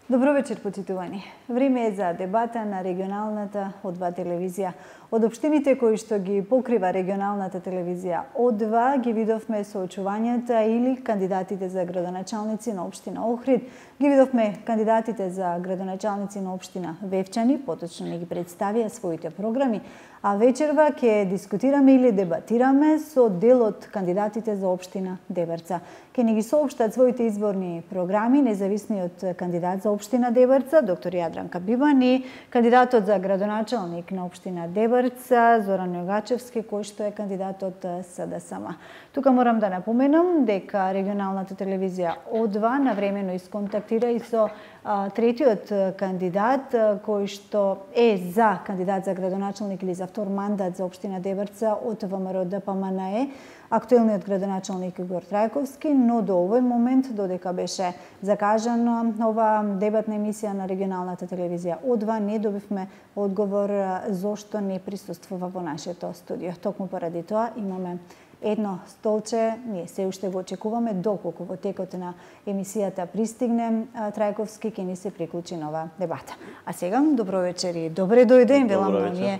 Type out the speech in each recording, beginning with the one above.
Добро вечер, почитувани. Време е за дебата на регионалната О2 телевизија. Од општините кои што ги покрива регионалната телевизија О2 ги видовме соочувањата или кандидатите за градоначалници на општина Охрид, ги видовме кандидатите за градоначалници на општина Вевчани, поточно не ги представија своите програми, а вечерва ќе дискутираме или дебатираме со дел од кандидатите за општина Дебрца. Ке ни ги соопштат своите изборни програми независниот кандидат за општина Дебрца, доктор Јадранка Бибан, и кандидатот за градоначалник на општина Дебрца, Зоран Јогачевски, кој што е кандидат од СДСМ. Тука морам да напоменам дека регионалната телевизија О2 навремено исконтактира и со третиот кандидат кој што е за кандидат за градоначалник или за втор мандат за општина Дебрца од ВМРО ДПМНЕ, актуелниот градоначалник Игор Трајковски, но до овој момент, додека беше закажана ова дебатна емисија на регионалната телевизија О2, не добивме одговор зошто не присуствува во нашето студио. Токму поради тоа имаме едно столче, ние се уште го очекуваме, доколку во текот на емисијата пристигне Трајковски, ќе ни се приклучи нова дебата. А сега, добро вечер и добре дојде, велам на ние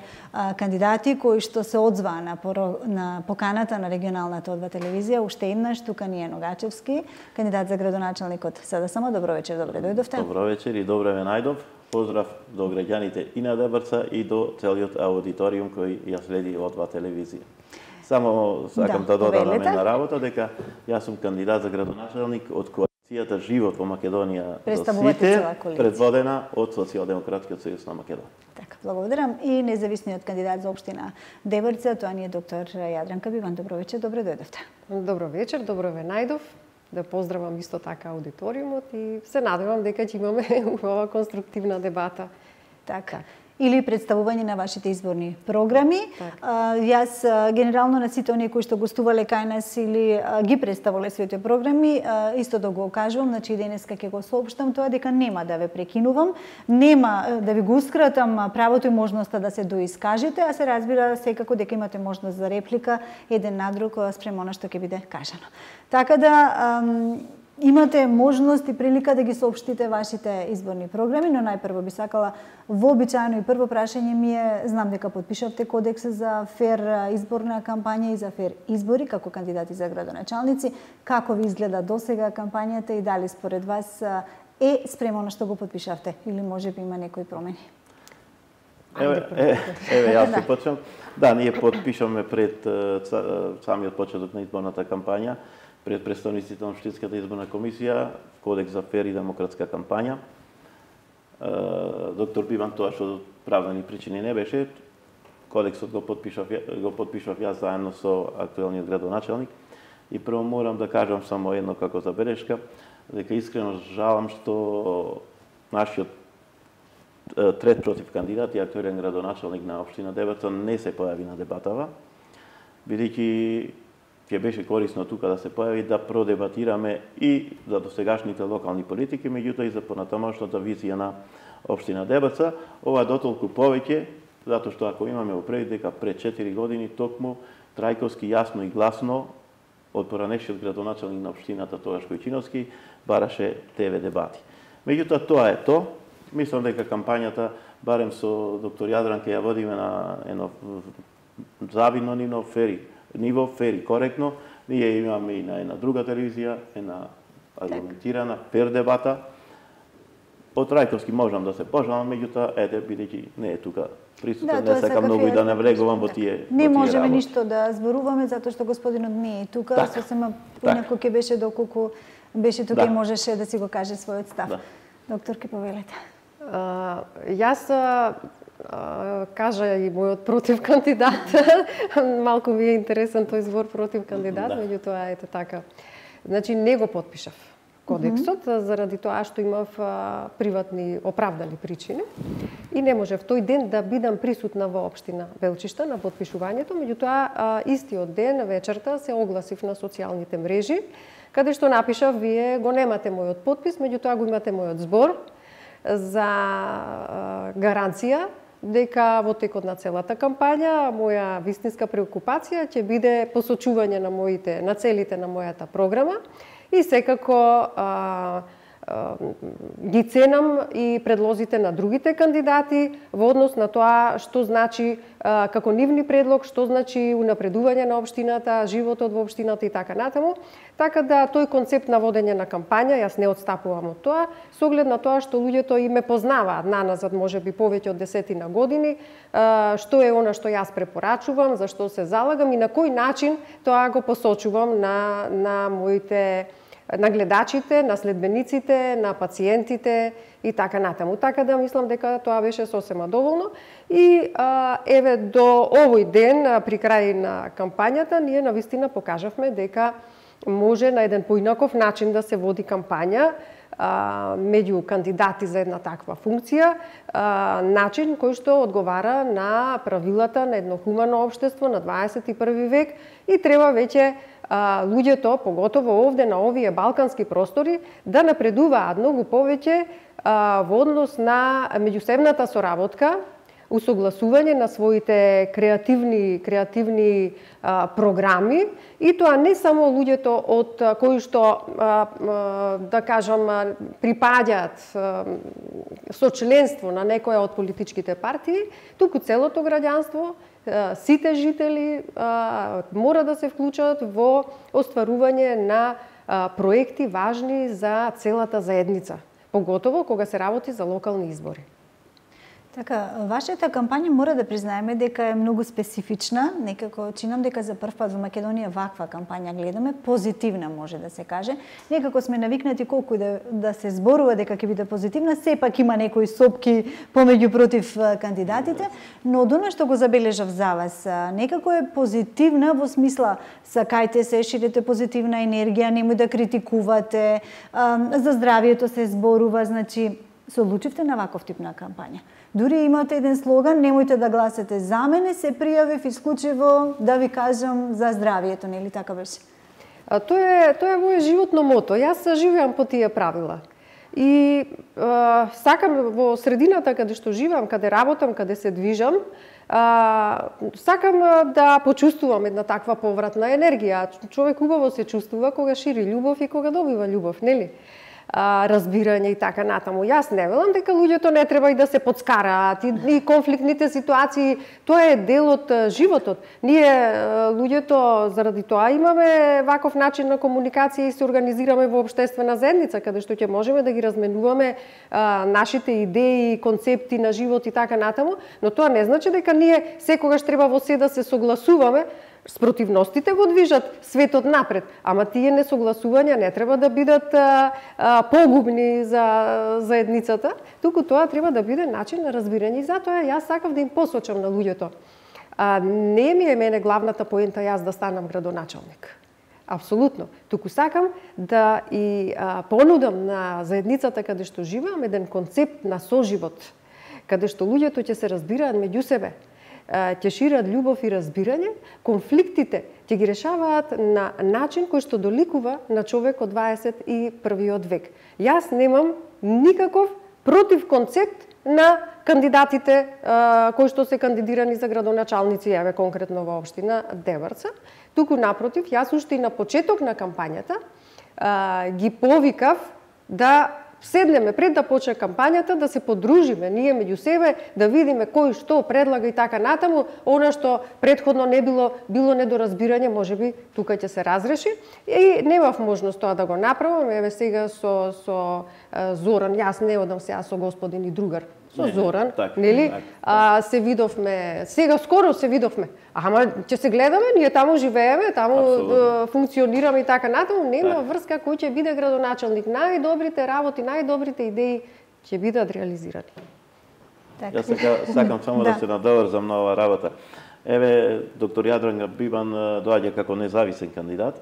кандидати кои што се одзваа на поканата на регионалната О2 телевизија. Уште еднаш, тука ни е Ногачевски, кандидат за градоначалник од СДСМ. Добро вечер, добре дојдовте. Добро вечер и добре ве најдов. Поздрав до граѓаните и на Дебрца и до целиот аудиториум кој ја следи О2 телевизија. Само сакам да додам на мене работа дека јас сум кандидат за градоначалник од коалицијата Живот во Македонија до сите, предводена од Социјалдемократскиот сојуз на Македонија. Така, благодарам. И независниот кандидат за општина Дебрца, тоа ни е доктор Јадранка Бибан. Добро вечер, добре дојдовте. Добро вечер, добро ве најдов. Да поздравам исто така аудиториумот и се надевам дека ќе имаме ова конструктивна дебата. Така. Или представување на вашите изборни програми. Јас генерално на сите оние кои што гостувале кај нас или ги представале своите програми, исто да го кажувам, значи денеска ќе го соопштам тоа дека нема да ве прекинувам, нема да ви гоускратам правото и можноста да се доискажете, а се разбира секако дека имате можност за реплика еден на друг спрема она што ќе биде кажано. Така да имате можност и прилика да ги соопштите вашите изборни програми, но најпрво би сакала вообичаено и прво прашање ми е, знам дека подпишавте кодекс за фер изборна кампања и за фер избори како кандидати за градоначалници. Како ви изгледа досега кампањата и дали според вас е спрема на што го подпишавте или можеби има некои промени? Еве, јас ќе почнам. Да, ние подпишаме пред самиот почеток на изборната кампања, пред представниците на Општинската изборна комисија, кодекс за фер и демократска кампања. Доктор Бибан тоа што правдани причини не беше, кодексот го подпишав јас заедно со актуелниот градоначалник. И прво морам да кажам само едно како забелешка, дека искрено жалам што нашиот трет против кандидат и актуелен градоначалник на општина Дебрца не се појави на дебатава, бидејќи ќе беше корисно тука да се појави да продебатираме и за досегашните локални политики, меѓутоа и за понатамошната визија на општина Дебрца. Ова дотолку повеќе, затоа што ако имаме предвид дека пред 4 години токму Трајковски јасно и гласно од поранешниот градоначалник на општината тогаш Којчиновски бараше ТВ дебати. Меѓутоа тоа е тоа. Мислам дека кампањата барем со доктор Јадранка ја водиме на едно завидно ниво, фери, коректно. Ние имаме и на една друга телевизија, една аргументирана, фер дебата. Од Трајковски можам да се пожалам, меѓутоа, бидејќи не е тука присутен, не сакам многу и да навлегувам во тие Не можеме ништо да зборуваме, затоа што господинот не е тука, сосема поинаку ќе беше доколку беше тука и можеше да си го каже својот став. Доктор, ке повелете. Јас кажа и мојот против кандидат. Малку ми е интересен тој збор против кандидат, меѓутоа ете така. Значи не го подпишав кодексот заради тоа што имав приватни оправдани причини и не можев тој ден да бидам присутна во општина Белчишта на подпишувањето, меѓутоа истиот ден вечерта се огласив на социјалните мрежи каде што напишав: вие го немате мојот подпис, меѓутоа го имате мојот збор. за гаранција дека во текот на целата кампања моја вистинска преокупација ќе биде посочување на целите на мојата програма и секако ги ценам и предлозите на другите кандидати во однос на тоа што значи како нивни предлог, што значи унапредување на општината, животот во општината и така натаму. Така да тој концепт на водење на кампања, јас не отстапувам од тоа, со оглед на тоа што луѓето и ме познаваат наназад, можеби повеќе од 10 години, што е она што јас препорачувам, за што се залагам и на кој начин тоа го посочувам на моите на гледачите, на следбениците, на пациентите и така натаму. Така да мислам дека тоа беше сосема доволно. И еве до овој ден, при крај на кампањата, ние навистина покажавме дека може на еден поинаков начин да се води кампања меѓу кандидати за една таква функција, начин кој што одговара на правилата на едно хумано општество на 21 век и треба веќе луѓето, поготово овде на овие балкански простори, да напредуваат многу повеќе во однос на меѓусебната соработка, усогласување на своите креативни програми и тоа не само луѓето од кои што да кажам припаѓаат со членство на некоја од политичките партии, туку целото граѓанство, сите жители мора да се вклучат во остварување на проекти важни за целата заедница, поготово кога се работи за локални избори. Така, вашата кампања мора да признаеме дека е многу специфична, некако чинам дека за прв пат во Македонија ваква кампања гледаме, позитивна може да се каже. Некако сме навикнати колку да се зборува дека ќе биде позитивна, сепак има некои сопки помеѓу против кандидатите, но од она што го забележав за вас, некако е позитивна во смисла сакајте се, ширите позитивна енергија, немој да критикувате, за здравието се зборува, значи се одлучивте на ваков тип на кампања. Дури имате еден слоган, немојте да гласате за мене, се пријавив исклучиво да ви кажам за здравието, нели така беше? Тоа е моје животно мото. Јас живеам по тие правила. И сакам во средината каде што живеам, каде работам, каде се движам, сакам да почувствувам една таква повратна енергија. Човек убаво се чувствува кога шири љубов и кога добива љубов, нели? Разбирање и така натаму. Јас не велам дека луѓето не треба и да се подскараат и конфликтните ситуации, тоа е дел од животот. Ние луѓето заради тоа имаме ваков начин на комуникација и се организираме во општествена заедница каде што ќе можеме да ги разменуваме нашите идеи, концепти на живот и така натаму, но тоа не значи дека ние секогаш треба во се да се согласуваме. Спротивностите го движат светот напред, ама тие несогласувања не треба да бидат погубни за заедницата, туку тоа треба да биде начин на разбирање и затоа јас сакав да им посочам на луѓето. Не ми е мене главната поента јас да станам градоначалник. Апсолутно. Туку сакам да и понудам на заедницата каде што живеам еден концепт на соживот, каде што луѓето ќе се разбираат меѓу себе, ќе шират љубов и разбирање, конфликтите ќе ги решаваат на начин кој што доликува на човек од 21 век. Јас немам никаков против концепт на кандидатите кои што се кандидирани за градоначалници, еве конкретно во општина Деварца. Туку напротив, јас уште и на почеток на кампањата ги повикав да седнеме пред да почне кампањата, да се подружиме ние меѓу себе, да видиме кој што предлага и така натаму, она што претходно не било недоразбирање, можеби тука ќе се разреши. И немав можност тоа да го направам, еве сега со Зоран, јас не одам сега со господин и другар, со Зоран, нели? Се видовме, сега скоро се видовме. Ама ќе се гледаме, ние таму живееме, таму функционираме и така натаму, нема врска кој ќе биде градоначалник. Најдобрите работи, најдобрите идеи ќе бидат реализирани. Јас сакам само да се надоврзам на оваа работа. Еве, доктор Јадран Бибан доаѓа како независен кандидат.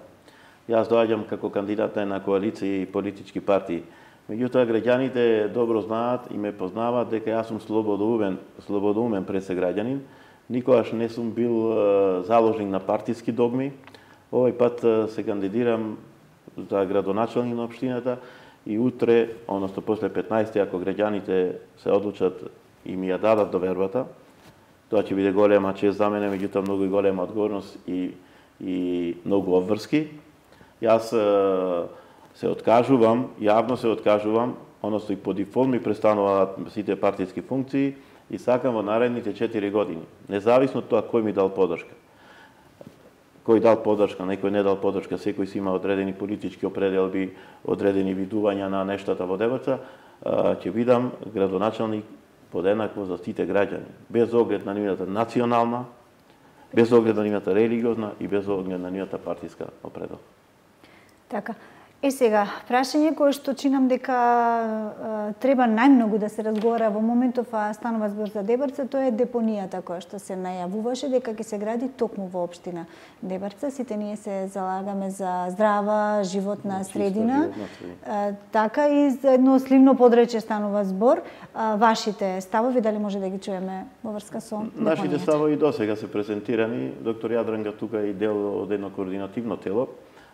Јас доаѓам како кандидат на една коалиција и политички партии. Меѓутоа, граѓаните добро знаат и ме познаваат дека јас сум слободумен пред се граѓанин. Никогаш не сум бил заложник на партиски догми. Овој пат се кандидирам за градоначалник на општината и утре, односно после 15 ако граѓаните се одлучат и ми ја дадат довербата, тоа ќе биде голема чест за мене, меѓутоа многу и голема одговорност и многу обврски. Јас се откажувам, јавно се откажувам, односно и по дефолт ми престануваат сите партиски функции и сакам во наредните 4 години, независно од тоа кој ми дал подршка. Кој дал подршка, некој не дал подршка, секој си има одредени политички определби, одредени видувања на нештата во Дебрца, ќе бидам градоначалник подеднакво за сите граѓани, без оглед на нивната национална, без оглед на нивната религиозна и без оглед на нивната партиска определба. Така. Сега, прашање кое што чинам дека треба најмногу да се разговара во моментов, а станува збор за Дебрца, тоа е депонијата која што се најавуваше дека ќе се гради токму во општина Дебрца. Сите ние се залагаме за здрава, животна средина. Така и за едно сливно подрече станува збор. Вашите ставови, дали може да ги чуеме во врска со депонијата? Нашите ставови досега се презентирани. Доктор Јадранга тука е дел од едно координативно тело.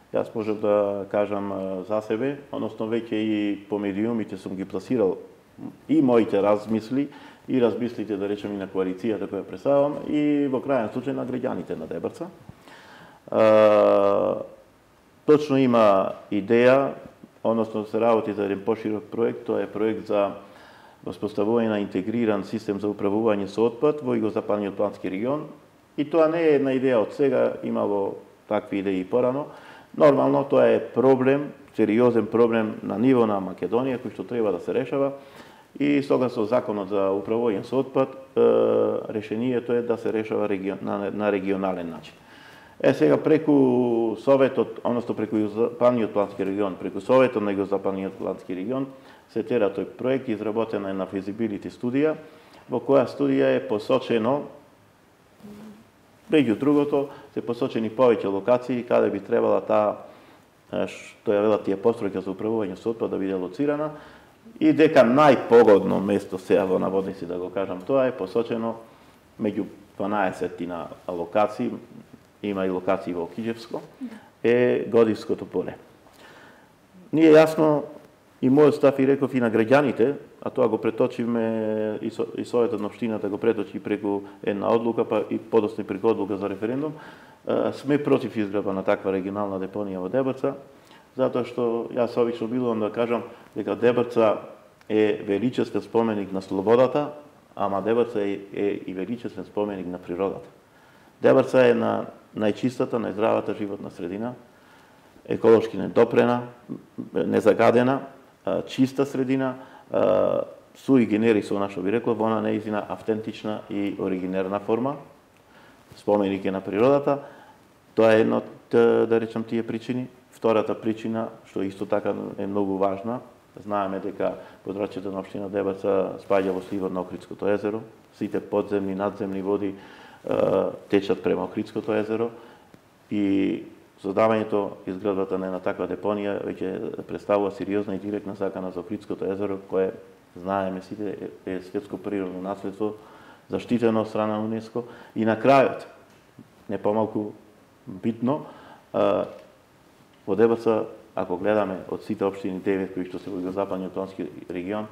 Јас можам да кажам за себе, односно веќе и по медиумите сум ги пласирал и моите размисли, и размислите, да речем, и на коалицијата која представам, и во крајен случај на граѓаните на Дебрца. Точно има идеја, односно се работи за еден поширок проект, тоа е проект за воспоставување на интегриран систем за управување со отпад во Југозападниот плански регион. И тоа не е една идеја од сега, имало такви идеи порано. Нормално, тоа е проблем, сериозен проблем на ниво на Македонија, кој што треба да се решава. И согласно законот за управување со отпад, решението е да се решава на регионален начин. Сега преку Советот, односно преку Југозападниот плански регион, преку Советот на Југозападниот плански регион, се тера тој проект, изработена е на физибилити студија, во која студија е посочено, меѓу другото, се посочени повеќе локации каде би требала таа, што ја велат тие постројки за управување со отпад да биде лоцирана, и дека најпогодно место сега во наводници, да го кажам, тоа е посочено меѓу 12 локации, има и локации во Киџевско, е Годивското поле. Ние јасно и мојот став и реков и на граѓаните, а тоа го преточиме и Советот на општината го преточи преку една одлука, па и подоцна преку одлука за референдум, сме против изградба на таква регионална депонија во Дебрца, затоа што јас обично билувам да кажам дека Дебрца е величествен споменик на слободата, ама Дебрца е и величествен споменик на природата. Дебрца е на најчистата, најздравата животна средина, еколошки недопрена, незагадена, чиста средина, суи генерис, она што би рекло, во она неизина автентична и оригинерна форма, споменик е на природата. Тоа е една од, да речем, тие причини. Втората причина, што исто така е многу важна, знаеме дека подрачјето на општина Дебрца спаѓа во сливот на Охридското езеро, сите подземни, надземни води течат према Охридското езеро и создавањето, изградбата на една таква депонија веќе представува сериозна и директна закана за Охридското езеро, кое, знаеме сите, е светско природно наследство, заштитено од страна на УНЕСКО. И на крајот, не помалку битно, во Дебрца, ако гледаме од сите општини 9 кои што се во Југозападниот плански регион,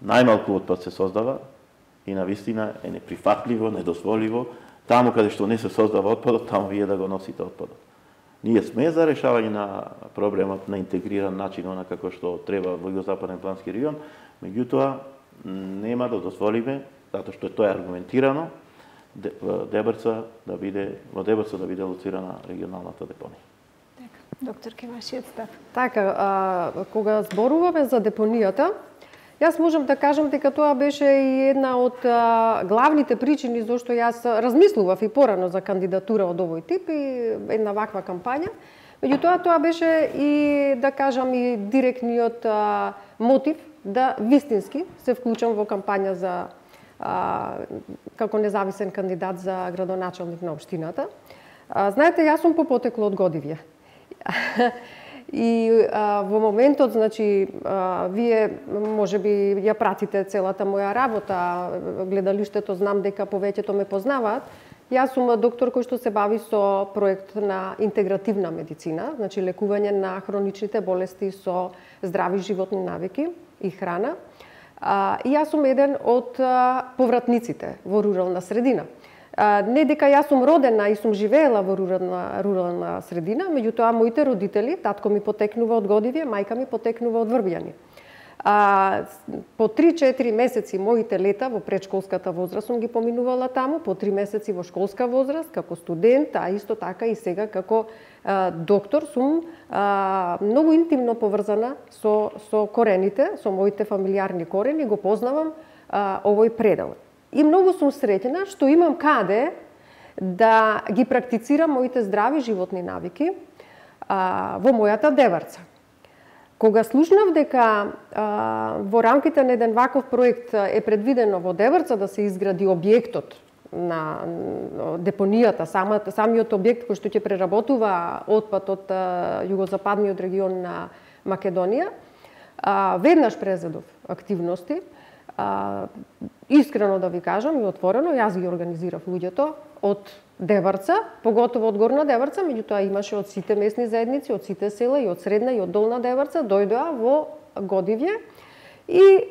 најмалку отпад се создава и навистина е неприфатливо, недозволиво, таму каде што не се создава отпадот, таму вие да го носите отпадот. Ние сме за решавање на проблемот на интегриран начин, она како што треба во Југозападен плански регион, меѓутоа нема да дозволиме, затоа што тоа е аргументирано, во Дебрца да биде лоцирана регионалната депонија. Доктор Кевашијат став. Така, кога зборуваме за депонијата, јас можам да кажам дека тоа беше и една од главните причини зашто јас размислував и порано за кандидатура од овој тип и една ваква кампања. Меѓутоа, тоа беше и, да кажам, и директниот мотив да вистински се вклучам во кампања за како независен кандидат за градоначалник на општината. Знаете, јас сум по потекло од Годивје. И во моментот, значи, вие можеби ја пратите целата моја работа, гледалиштето знам дека повеќето ме познаваат, Јас сум доктор кој што се бави со проект на интегративна медицина, значи лекување на хроничните болести со здрави животни навики и храна. И јас сум еден од повратниците во рурална средина. Не дека јас сум родена и сум живеела во рурална средина, меѓутоа моите родители, татко ми потекнува од Годивје, мајка ми потекнува од Врбјани. По 3-4 месеци моите лета во предшколската возраст сум ги поминувала таму, по 3 месеци во школска возраст, како студент, а исто така и сега како доктор сум многу интимно поврзана со корените, со моите фамилиарни корени, го познавам овој предел. И многу сум среќна што имам каде да ги практицирам моите здрави животни навики во мојата Деварца. Кога слушнав дека во рамките на еден ваков проект е предвидено во Деварца да се изгради објектот на депонијата, самиот објект кој што ќе преработува отпад од југозападниот регион на Македонија, веднаш презедов активности. Искрено да ви кажам и отворено, јас ги организирав луѓето од Деварца, поготово од Горна Деварца, меѓутоа имаше од сите месни заедници, од сите села и од Средна и од Долна Деварца, дојдоа во Годивје и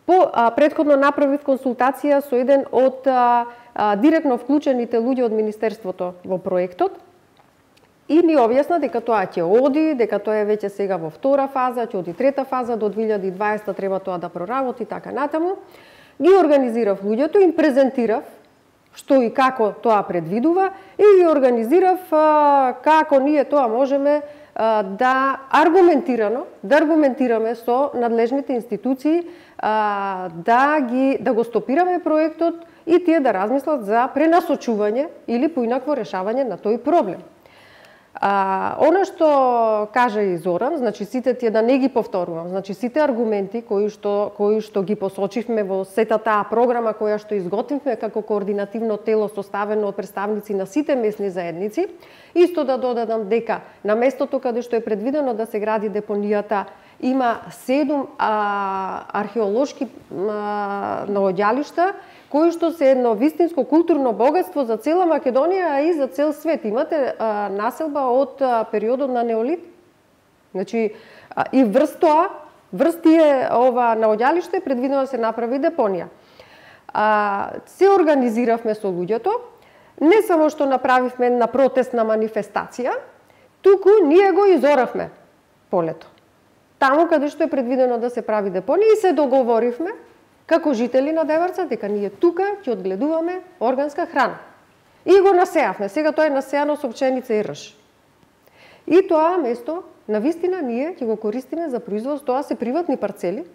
претходно направив консултација со еден од директно вклучените луѓе од Министерството во проектот и ни објасна дека тоа ќе оди, дека тоа е веќе сега во втора фаза, ќе оди трета фаза, до 2020 треба тоа да проработи, така натаму. Ги организирав луѓето, им презентирав што и како тоа предвидува и ги организирав како ние тоа можеме да аргументираме со надлежните институции да го стопираме проектот и тие да размислат за пренасочување или поинакво решавање на тој проблем. Она што кажа и Зоран, значи сите тие, да не ги повторувам, значи сите аргументи кои што ги посочивме во сета таа програма која што изготвивме како координативно тело составено од представници на сите месни заедници, исто да додадам дека на местото каде што е предвидено да се гради депонијата има 7 археолошки наоѓалишта кои што се едно вистинско културно богатство за цела Македонија, а и за цел свет. Имате населба од периодот на Неолит. Значи, и врз тие ова наоѓалиште е предвидено да се направи депонија. Се организиравме со луѓето, не само што направивме една протестна манифестација, туку ние го изоравме полето. Таму каде што е предвидено да се прави депонија и се договоривме како жители на Деварца дека ние тука ќе одгледуваме органска храна. И го насеавме. Сега тоа е насеано со пченица и рж. И тоа место навистина ние ќе го користиме за производство, тоа се приватни парцели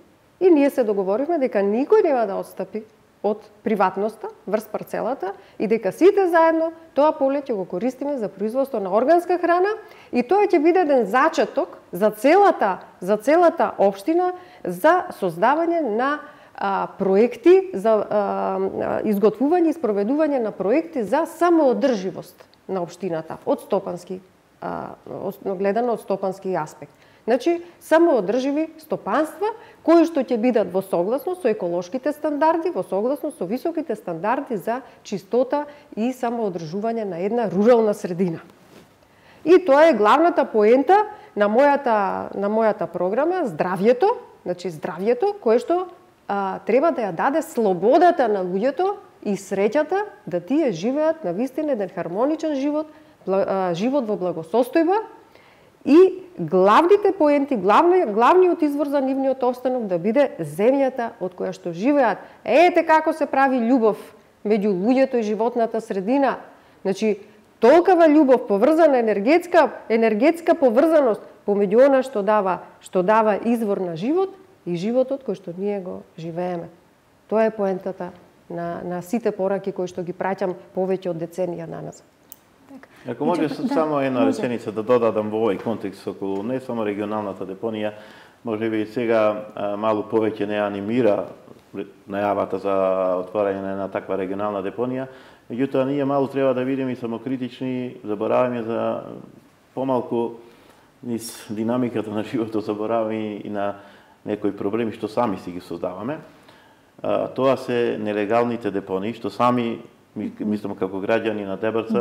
и ние се договоривме дека никој нема да отстапи од приватноста врз парцелата и дека сите заедно тоа поле ќе го користиме за производство на органска храна и тоа ќе биде еден зачеток за целата општина за создавање на проекти за изготвување и спроведување на проекти за самоодрживост на општината од стопански гледано од стопански аспект. Значи, самоодрживи стопанства кои што ќе бидат во согласност со еколошките стандарди, во согласност со високите стандарди за чистота и самоодржување на една рурална средина. И тоа е главната поента на мојата програма, здравјето, значи здравјето кое што треба да ја даде слободата на луѓето и среќата да тие живеат на вистина еден хармоничен живот, живот во благосостојба и главните поенти, главниот извор за нивниот опстанок да биде земјата од која што живеат. Ете како се прави љубов меѓу луѓето и животната средина. Значи, толкова љубов поврзана енергетска поврзаност помеѓу она што дава извор на живот и животот кој што ние го живееме. Тоа е поентата на сите пораки кои што ги праќам повеќе од деценија наназад. Ако може само една реченица да додадам во овој контекст околу не само регионалната депонија, може би сега малку повеќе не анимира најавата за отворање на една таква регионална депонија, меѓутоа ние малку треба да бидеме и самокритични, забораваме за помалку низ динамиката на животот, забораваме и на некои проблеми што сами си ги создаваме. Тоа се нелегалните депонии што сами мислам како граѓани на Дебрца,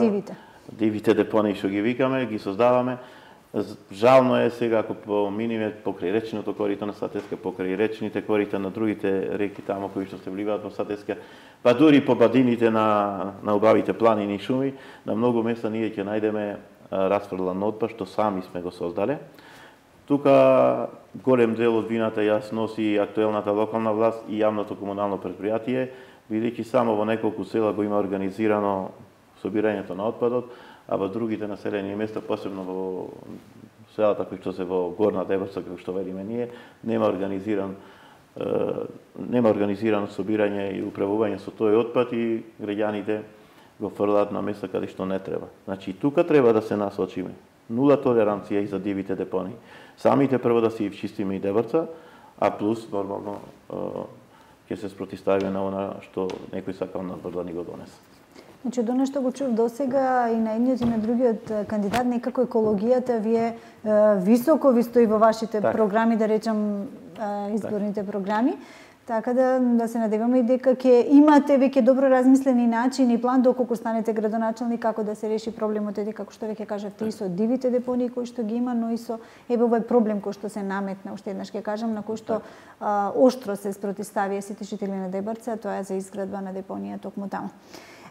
дивите депонии што ги викаме, ги создаваме. Жално е сега ако поминиме покрај речното корито на Сатеска, покрај речните корита на другите реки тамо кои што се вливаат во Сатеска, па дури по бадините на убавите планини и шуми, на многу места ние ќе најдеме расфрлан отпад што сами сме го создале. Тука голем дел од вината јас носи актуелната локална власт и јавното комунално предпријатие, бидејќи само во неколку села го има организирано собирањето на отпадот, а во другите населени места, посебно во селата кои што се во Горна Дебрца, како што велиме ние, нема организирано собирање и управување со тој отпад и граѓаните го фрлаат на места каде што не треба. Значи, тука треба да се насочиме. Нула толеранција и за дивите депонии. Самите прво да си чистиме и Дебрца, а плюс, нормално, ќе се спротиставиме на она што некој сакал надвор да ни го донесе. Значи, од оно што го чув досега и на едниот и на другиот кандидат, некако екологијата вие високо ви стои во вашите програми, да речам изборните програми. Така да се надеваме и дека ќе имате веќе добро размислени начин и план доколку станете градоначелник како да се реши проблемот, како што веќе кажавте, и со дивите депонии кои што ги има, но и со овој проблем кој што се наметна, уште еднаш ќе кажам, на кој што оштро се спротиставија сите жители на Дебрца, тоа е за изградба на депонија токму таму.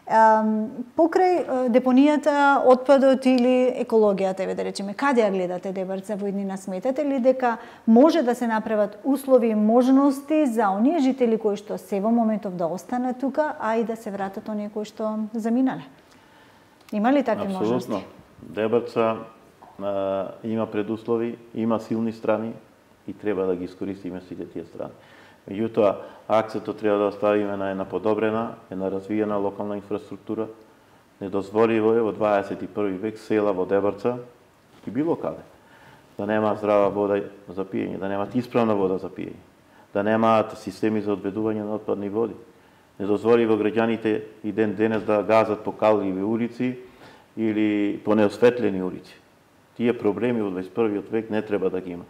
Покрај депонијата, отпадот или екологијата, да речеме, каде ја гледате Дебрца во иднина? Сметате ли дека може да се направат услови и можности за оние жители кои што се во моментов да останат тука, а и да се вратат оние кои што заминале? Има ли такви можности? Апсолутно. Дебрца има предуслови, има силни страни и треба да ги искористиме сите тие страни. Меѓутоа, акцентот треба да оставиме на една подобрена, една развиена локална инфраструктура. Недозволиво е во 21. век села во Дебрца и било каде да немаат здрава вода за пиење, да немаат исправна вода за пиење, да немаат системи за одведување на отпадни води. Недозволиво граѓаните и ден денес да газат по калливи улици или по неосветлени улици. Тие проблеми во 21. век не треба да ги има.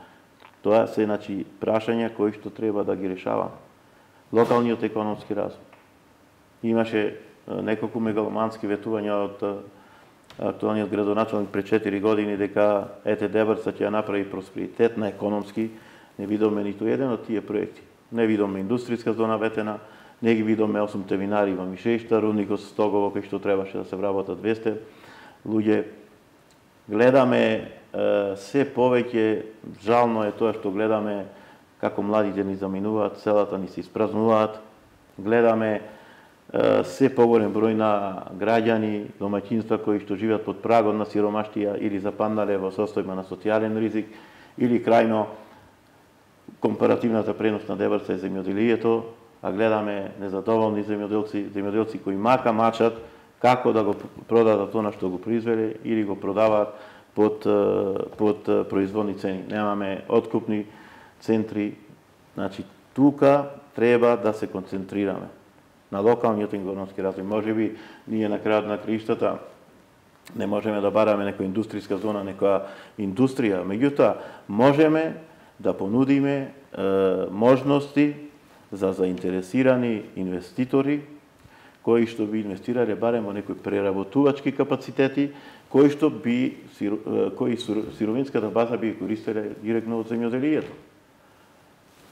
Тоа се прашања кои што треба да ги решаваме. Локалниот економски развој. Имаше неколку мегаломански ветувања од актуалниот градоначелник пред 4 години дека Дебрца ќе ја направи просперитетна економски. Не видоме ниту еден од тие проекти. Не видоме индустријска зона ветена, не ги видоме 8 винари во Мишешта, рудникот Стогово кој што требаше да се вработат 200 луѓе. Гледаме се повеќе, жално е тоа што гледаме како младите ни заминуваат, селата ни се испразнуваат. Гледаме се поголем број на граѓани, домаќинства кои што живеат под прагот на сиромаштија или западнале во состојба на социјален ризик, или крајно компаративната предност на Дебрца е земјоделието, а гледаме незадоволни земјоделци кои мачат како да го продадат она што го произвеле или го продаваат под производни цени. Немаме откупни центри. Значи, тука треба да се концентрираме на локалниот економски развој. Можеби ние на крајот на краиштата не можеме да бараме некоја индустријска зона, некоја индустрија, меѓутоа можеме да понудиме можности за заинтересирани инвеститори кои што би инвестирале барем во некои преработувачки капацитети, кои сировинската база би користеле директно од земјоделието.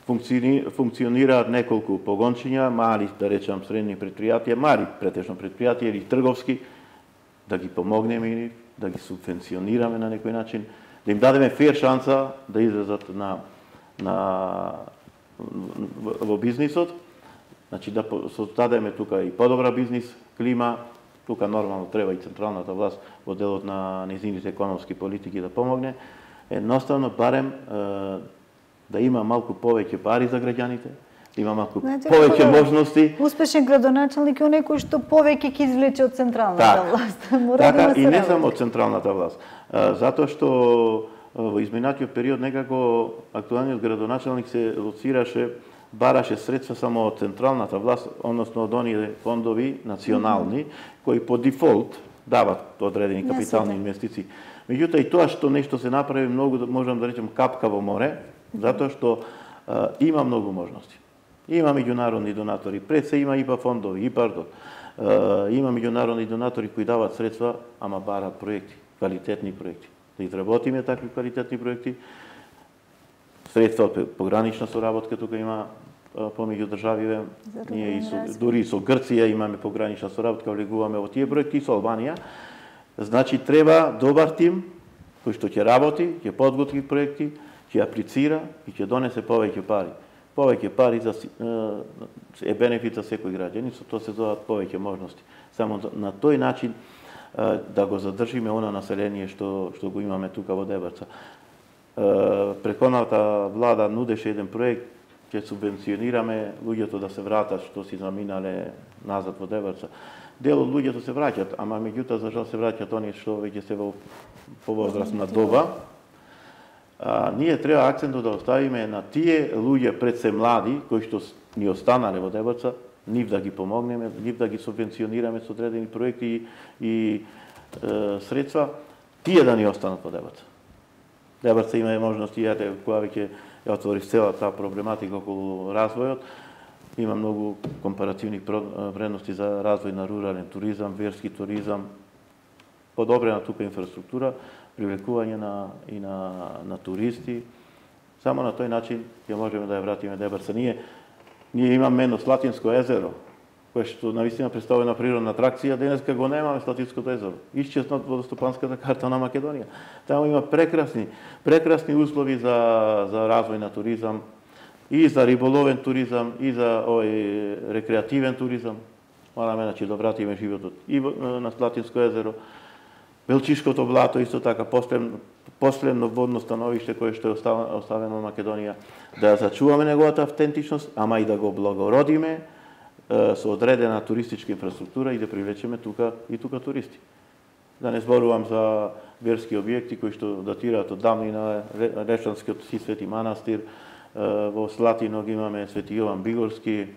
Функционираат неколку погончиња, мали, да речам, средни предпријатија, мали претежно предпријатија или трговски, да ги помогнеме или да ги субвенционираме на некој начин, да им дадеме фер шанса да излезат во бизнисот, значи да создадеме тука и подобра бизнис клима. Тука нормално треба и централната власт во делот на незините економски политики да помогне. Едноставно барем да има малку повеќе пари за граѓаните, да има малку повеќе можности. Успешен градоначелник е оној кој што повеќе ќе извлече од централната власт. Така, и не само од централната власт. Затоа што во изминатиот период некако актуалниот градоначелник се лоцираше, бараше средства само од централната власт, односно од оние фондови национални, кои по дефолт дават одредени капитални инвестиции. Меѓутоа и тоа што нешто се направи многу, можам да речем, капка во море, затоа што има многу можности. Има меѓународни донатори, пред се има ИПА фондови, ИПАРДО. Има меѓународни донатори кои дават средства, ама барат проекти, квалитетни проекти. Да изработиме такви квалитетни проекти. Средства од погранична соработка тука има помеѓу државиве. Ние дури и со Грција имаме погранична соработка, влегуваме во тие проекти, и со Албанија. Значи треба добар тим кој што ќе работи, ќе подготви проекти, ќе аплицира и ќе донесе повеќе пари. Повеќе пари е бенефит за секој граѓанин, со тоа се доаат повеќе можности. Само на тој начин да го задржиме она население што го имаме тука во Дебарца. Претходната влада нудеше еден проект, ќе субвенционираме луѓето да се вратат што си заминале назад во Дебарца. Дел од луѓето се враќат, ама меѓутоа за жал се враќат оние што веќе се во повозрастна доба. Ние треба акцентот да оставиме на тие луѓе пред се млади кои што ни останале во Дебарца, нив да ги помогнеме, нив да ги субвенционираме со одредени проекти и средства, тие да ни останат во Дебарца. Дебарца има можности, кога веќе ја отворив цела таа проблематика околу развојот, има многу компаративни вредности за развој на рурален туризам, верски туризам, подобрена тука инфраструктура, привлекување на туристи. Само на тој начин ќе можеме да ја вратиме Дебарца. Ние имаме едно Слатинско езеро, кое што навистина представува на природна атракција, денеска го немаме Слатинското езеро. Исчезна од водостопанската карта на Македонија. Таму има прекрасни услови за развој на туризам, и за риболовен туризам, и за рекреативен туризам. Мораме значи да вратиме животот и на Слатинско езеро. Белчишкото блато исто така последно водно становиште кое што е оставено во Македонија, да зачуваме неговата автентичност, ама и да го благородиме со одредена туристичка инфраструктура и да привлечеме тука туристи. Да не зборувам за верски објекти кои што датираат од давнина, Речанскиот Свети манастир, во Слатино ги имаме Свети Јован Бигорски,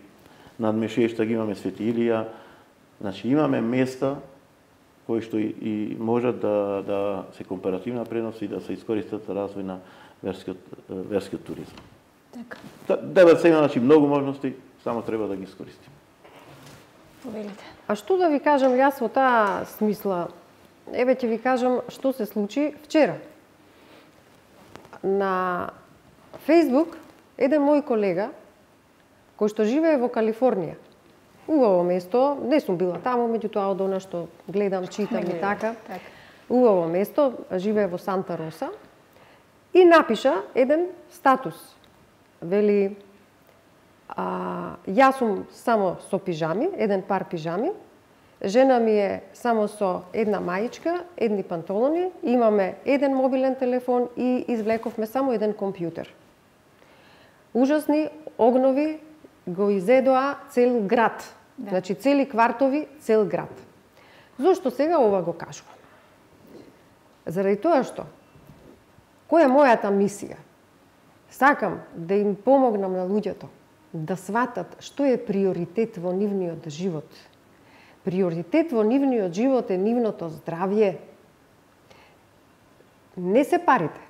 над Мешешта ги имаме Свети Илија. Значи имаме места кои што и можат да се компаративна предност и да се искористат за развој на верскиот туризам. Така. Дебарца има значи многу можности, само треба да ги искористиме. Повелите. А што да ви кажам јас во таа смисла? Еве ќе ви кажам што се случи вчера. На Facebook еден мој колега кој што живее во Калифорнија. Убаво место, не сум била таму, меѓутоа од она што гледам, читам и така. Убаво место, живее во Санта Роса и напиша еден статус. Вели, јас сум само со пижами, еден пар пижами, жена ми е само со една маичка, едни панталони, имаме еден мобилен телефон и извлековме само еден компјутер. Ужасни огнови го изедоа цел град. Да. Значи цели квартови, цел град. Зошто сега ова го кажувам? Заради тоа што која е мојата мисија? Сакам да им помогнам на луѓето да сватат што е приоритет во нивниот живот. Приоритет во нивниот живот е нивното здравје. Не се парите.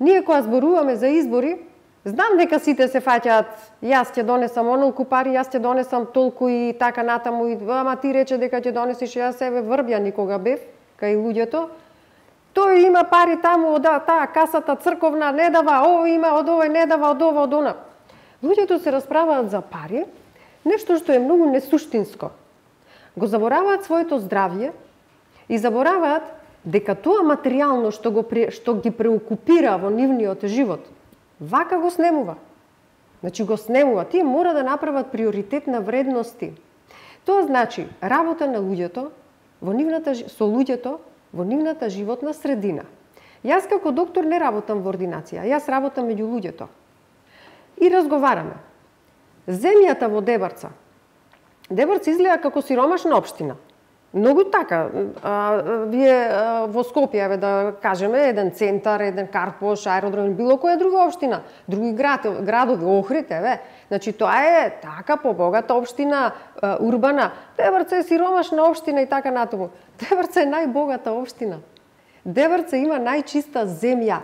Ние кога зборуваме за избори, знам дека сите се фаќаат, јас ќе донесам онолку пари, јас ќе донесам толку и така натаму, ама ти рече дека ќе донесиш, јас себе врбја никога бев, кај луѓето. Тој има пари таму, од таа касата црковна не дава, ово има, од овој не дава, од ова, од она. Луѓето се расправаат за пари, нешто што е многу несуштинско. Го забораваат своето здравје и забораваат дека тоа материјално што ги преокупира во нивниот живот, вака го снемува. Значи го снемува. Тие мора да направат приоритет на вредности. Тоа значи работа на луѓето со луѓето во нивната животна средина. Јас како доктор не работам во ординација, јас работам меѓу луѓето. И разговараме. Земјата во Дебарца. Дебарца изгледа како сиромашна општина. Многу така. Вие во Скопје, да кажеме, еден центар, еден Карпош, аеродром, било која друга општина, други градови, Охрид, Значи, тоа е така побогата општина, урбана. Дебарца е сиромашна општина и така натаму. Дебарца е најбогата општина. Дебарца има најчиста земја,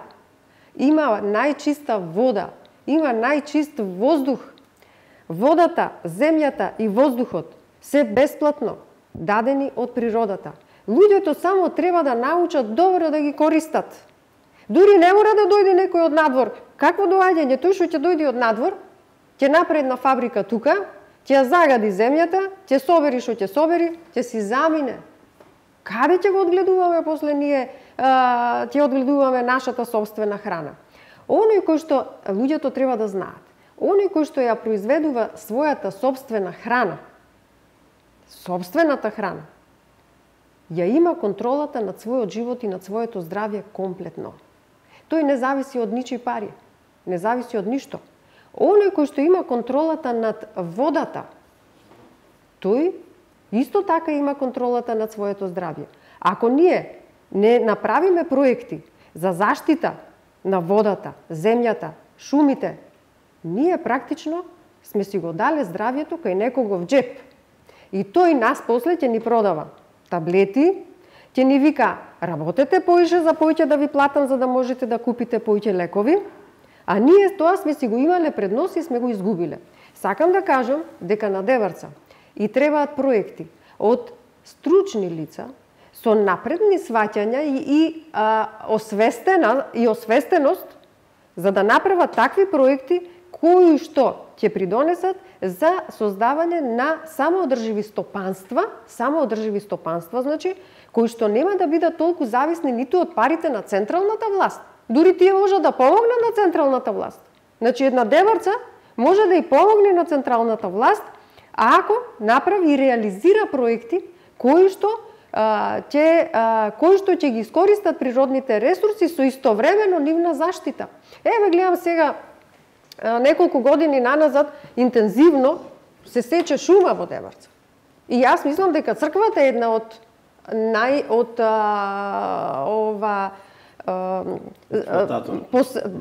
има најчиста вода, има најчист воздух. Водата, земјата и воздухот се бесплатно, дадени од природата. Луѓето само треба да научат добро да ги користат. Дури не мора да дојде некој од надвор. Какво доаѓање? Тој што ќе дојде од надвор, ќе направи една фабрика тука, ќе ја загади земјата, ќе собери што ќе собери, ќе си замине. Каде ќе го одгледуваме после ние, ќе одгледуваме нашата собствена храна? Оној кој што луѓето треба да знаат, оној кој што ја произведува својата собствена храна, собствената храна, ја има контролата над својот живот и над своето здравје комплетно. Тој не зависи од ничии пари, не зависи од ништо. Оној кој што има контролата над водата, тој исто така има контролата над своето здравје. Ако ние не направиме проекти за заштита на водата, земјата, шумите, ние практично сме си го дале здравјето кај некого в джеп. И тој нас после ќе ни продава таблети, ќе ни вика работете поише за поиќе да ви платам за да можете да купите поиќе лекови, а ние тоа сме си го имале пред нос и сме го изгубиле. Сакам да кажам дека на Деварца и требаат проекти од стручни лица со напредни сваќања и освестеност за да направат такви проекти кои што ќе придонесат за создавање на самоодрживи стопанства, значи, кои што нема да бидат толку зависни ниту од парите на централната власт. Дури тие може да помогнат на централната власт. Значи, една Деварца може да и помогне на централната власт, ако направи и реализира проекти кои што ќе ги искористат природните ресурси со истовремено нивна заштита. Еве гледам сега неколку години наназад интензивно се сече шума во Деварца. И јас мислам дека црквата е една од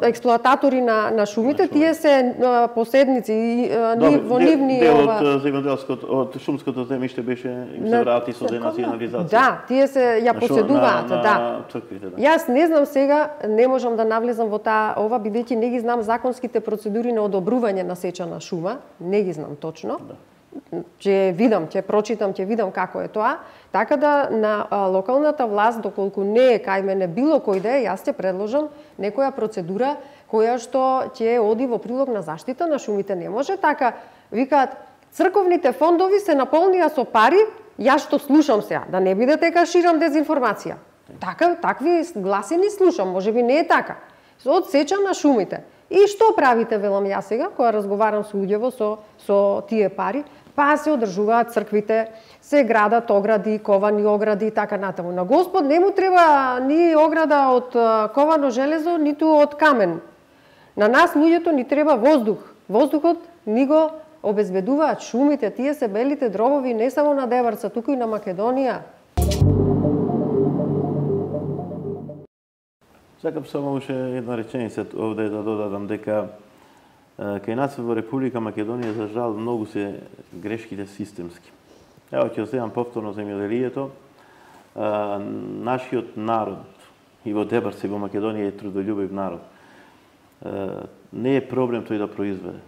експлоататори на шумите, тие се поседници во нивни дел од земјоделското, од шумското земјиште беше им се врати со денационализација. Да, тие се ја поседуваат, да. Црквите, да. Јас не знам сега, не можам да навлезам во ова бидејќи не ги знам законските процедури на одобрување на сеча на шума, не ги знам точно. Да. Ќе видам, ќе прочитам, ќе видам како е тоа. Така да на локалната власт, доколку не е кај мене било кој да е, јас ќе предложам некоја процедура која што ќе оди во прилог на заштита на шумите. Не може така, викаат, црковните фондови се наполнија со пари, јас што слушам сега, да не биде дека ширам дезинформација. Такви гласини слушам, можеби не е така. Од сеча на шумите. И што правите, велам јас сега, кога разговарам со луѓево со тие пари? Па се одржуваат црквите, се градат огради, ковани огради и така натаму. На Господ не му треба ни ограда од ковано железо, ниту од камен. На нас луѓето ни треба воздух. Воздухот ни го обезбедуваат шумите, тие се белите дробови не само на Деварца, туку и на Македонија. Сакам само уште една реченица овде да додадам дека кај нас во Република Македонија за жал многу се грешките системски. Ево ќе земам повторно земјоделието. Нашиот народ и во Деварца и во Македонија е трудолюбив народ. Не е проблем тој да произведе.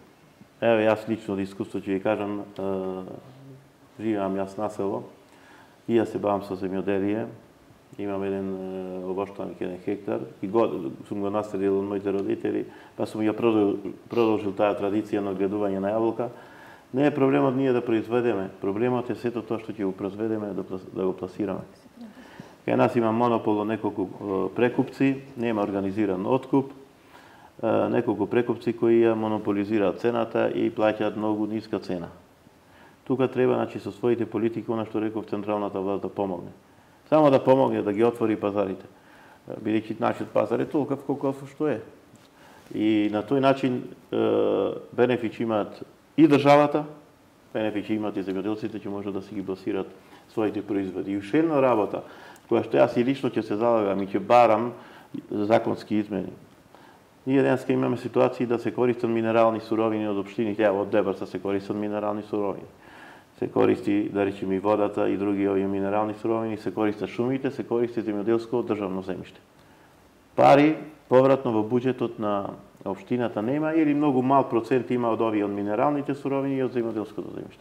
Ево јас лично од искуство ќе ви кажам, живеам јас на село и јас се бавам со земјоделие. Имам еден обоштаник, 1 хектар и сум го наследил од моите родители, па сум ја продолжил таа традиција на гледување на јаболка. Не е проблемот ние да произведеме, проблемот е сето тоа што ќе го произведеме да го пласираме. Кај нас има монопол од неколку прекупци, нема организиран откуп, неколку прекупци кои ја монополизираат цената и плаќаат многу ниска цена. Тука треба, значи, со своите политики, она што реков, централната власт да помогне. Само да помогне да ги отвори пазарите. Бидејќи нашиот пазар е толков колку што е. И на тој начин бенефит имаат и државата, бенефит имаат и земјоделците, ќе можат да си ги пласираат своите производи. И уште една работа, која што јас и лично ќе се залагам и ќе барам законски измени. Ние денеска имаме ситуации да се користат минерални суровини од општините, од Деварца се користат минерални суровини. Се користи, да речем, и водата и други овие минерални суровини, се користат шумите, се користи земјоделско државно земјиште. Пари повратно во буџетот на општината нема или многу мал процент има од овие од минералните суровини и од земјоделското земјиште.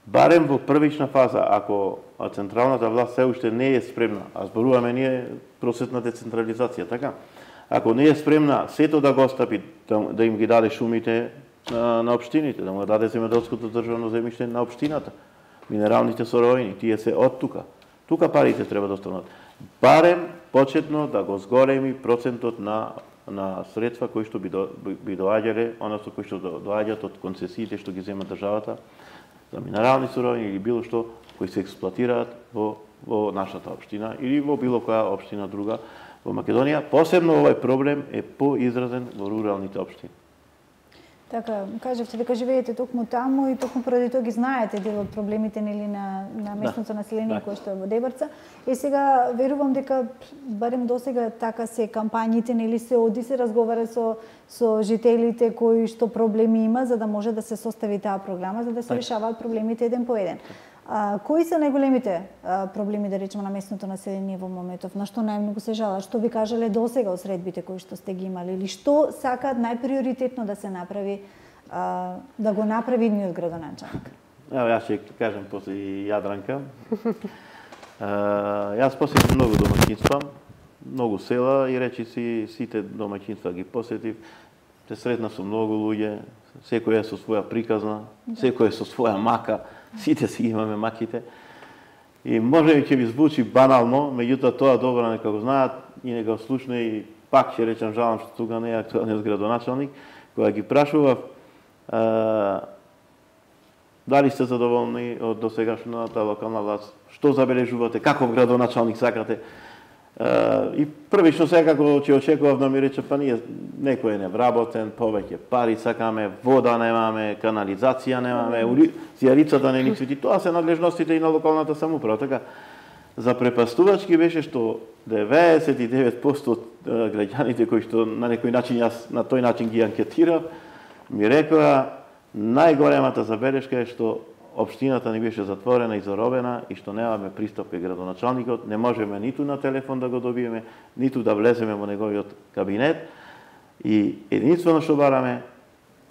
барем во првична фаза, ако централната власт се уште не е спремна, а зборуваме ние просветна децентрализација, така? Ако не е спремна сето да го остапи, да им ги даде шумите на општините, да му даде земјоделското државно земјиште на општината, минералните соровини, тие се од тука. Тука парите треба да останат. Барем почетно да го зголеми процентот на средства кои што би доаѓале, односно кои што доаѓаат од концесиите што ги зема државата за минерални суровини или било што кои се експлоатираат во нашата општина или во било која општина друга во Македонија. Посебно овој проблем е поизразен во руралните општини. Така, кажавте дека живеете токму таму и токму поради тоа ги знаете дел од проблемите нели на местното население кое што е во Дебарца. И сега верувам дека барем досега така се кампањите нели се оди се разговара со жителите кои што проблеми има за да може да се состави таа програма за да се решаваат проблемите еден по еден. Кои се најголемите проблеми, да речеме, на местното население во моментов? На што најмногу се жалат? Што ви кажале досега од средбите кои што сте ги имали? Или што сакаат најприоритетно да се направи, да го направи идниот градоначалник? Ево, јас ќе кажем после Јадранка. Јас посетив многу домаќинства, многу села и речиси сите домаќинства ги посетив. Се сретна со многу луѓе, секој е со своја приказна, секој е со своја мака. Сите си имаме маките. И може би ќе ви звучи банално, меѓутоа тоа добро нека го знаат и нека го слушне и пак ќе речам жалам што тука не е актуелниот градоначалник, кога ги прашував дали сте задоволни од досегашната локална власт, што забележувате, каков градоначалник сакате. И првично секако ќе очекував да ми рече па ние некој е невработен, повеќе пари сакаме, вода немаме, канализација немаме, зијарицата не ни цвети. Тоа се надлежностите и на локалната самоуправа. Така запрепастувачки беше што 99% од граѓаните кои што на некој начин јас на тој начин ги анкетирав ми рекоа најголемата забелешка е што општината ни беше затворена и заробена и што немаме пристап кај градоначалникот, не можеме ниту на телефон да го добиеме, ниту да влеземе во неговиот кабинет и единствено што бараме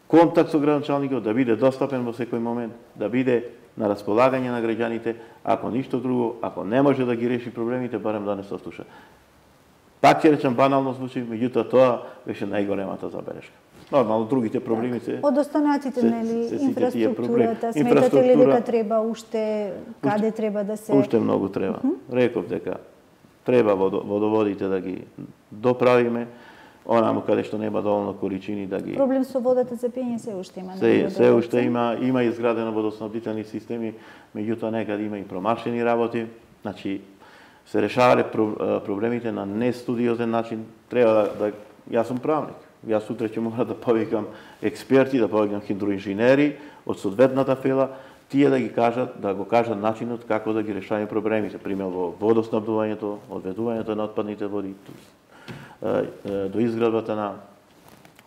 контакт со градоначалникот да биде достапен во секој момент, да биде на располагање на граѓаните, ако ништо друго, ако не може да ги реши проблемите, барем да не се слуша. Пак ќе речам банално звучи, меѓутоа тоа беше најголемата забелешка. Нормално, другите проблеми се... Од останатите, нели, инфраструктурата, сметате ли дека треба уште, каде треба да се... Уште многу треба. Реков дека треба водоводите да ги доправиме, онаму каде што нема доволно количини да ги... Проблем со водата за пиење се уште има. Се уште има изградено водоснабдителни системи, меѓутоа некаде има и промашени работи. Значи, се решавале проблемите на нестудиозен начин. Треба да... Јас сум правник. Јас сутре ќе мора да повикам експерти, да повикам хидроинженери од соодветната фела, тие да ги кажат, да го кажат начинот како да ги решаваме проблемите, пример во водоснабдувањето, одведувањето на отпадните води, до изградбата на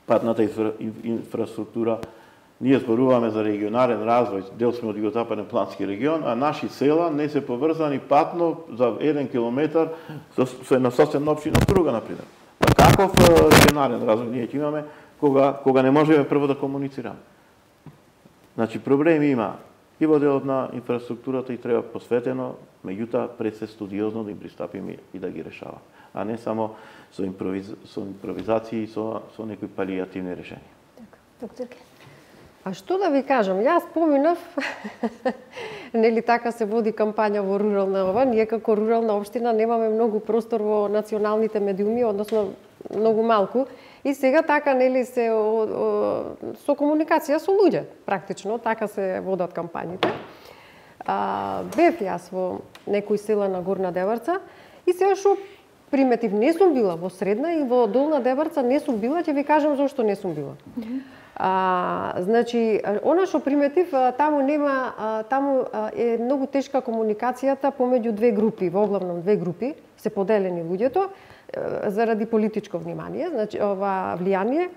патната инфраструктура. Ние зборуваме за регионален развој, дел сме од југозападен плански регион, а наши села не се поврзани патно за 1 километар со една соседна општина друга, например. Па каков регионален развој ние ќе имаме кога не можеме прво да комуницираме? Значи проблеми има и во делот на инфраструктурата и треба посветено, меѓутоа пред се студиозно да им пристапиме и да ги решава, а не само со импровизации и со некои палијативни решенија. Така, докторке. А што да ви кажам, јас поминав, нели така се води кампања во рурална ова, ние како рурална општина немаме многу простор во националните медиуми, односно многу малку, и сега така нели се со комуникација со луѓе, практично, така се водат кампањите. Бев јас во некои села на Горна Дебарца и сега што приметив, не сум била во Средна и во Долна Дебарца не сум била, ќе ви кажам зошто не сум била. Значи, она што приметив, таму е многу тешка комуникацијата помеѓу две групи, во главном две групи, се поделени луѓето, заради политичко внимание, значи, ова влијание.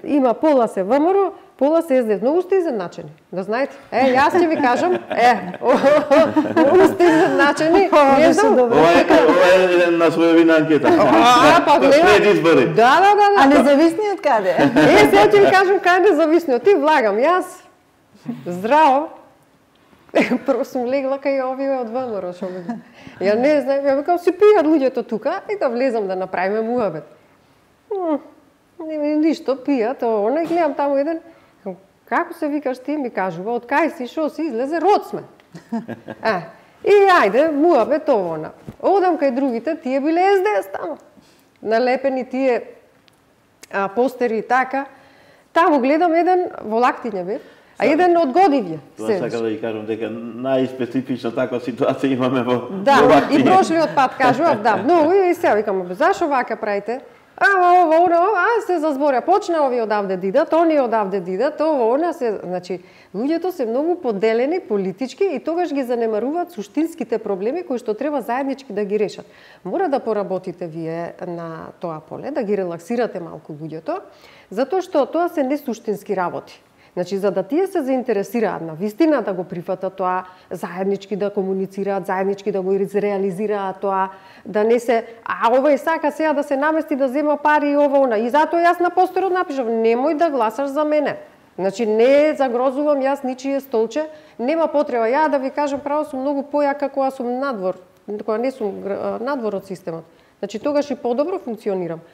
Има пола се ВМРО, пола се СДС. Многу сте изедначени, да знаете. Јас ќе ви кажам, многу сте изедначени. Не знам. Ова е на својовина анкета. След избори. Да. А независни од каде? Сега ќе ви кажам каде независни. Ти влагам, јас здраво, Прво сум легла кај овие од ВМРО, шо ми. Ја не знам, ја викам, си пијат луѓето тука, и да влезам да направиме муабет. Ништо, пијат, она, и гледам таму еден, како се викаш ти, ми кажува, од кај си, шо си, излезе, род сме. И ајде, муабет, она. Одам кај другите, тие биле СДС таму. Налепени тие постери и така. Таму гледам еден во лактиња бе, а еден од Годивје. Тоа сакам да ги кажам дека најспецифична таква ситуација имаме во Да, и прошлиот пат кажував, да, многу и сега викам, зашо вака правите? Се зазборја, почна овие одавде дидат, оние одавде дидат, она се, значи, луѓето се многу поделени политички и тогаш ги занемаруваат суштинските проблеми кои што треба заеднички да ги решат. Мора да поработите вие на тоа поле, да ги релаксирате малку луѓето, затоа што тоа се несуштински работи. Значи, за да тие се заинтересираат на вистина да го прифатат тоа, заеднички да комуницираат, заеднички да го реализираат тоа, да не се, овој сака сега да се намести да зема пари и она. И затоа јас на постерот напишав, немој да гласаш за мене. Значи, не загрозувам јас ничие столче, нема потреба. Ја да ви кажам, право сум многу појака кога сум надвор, кога не сум надвор од системот. Значи, тогаш и подобро функционирам.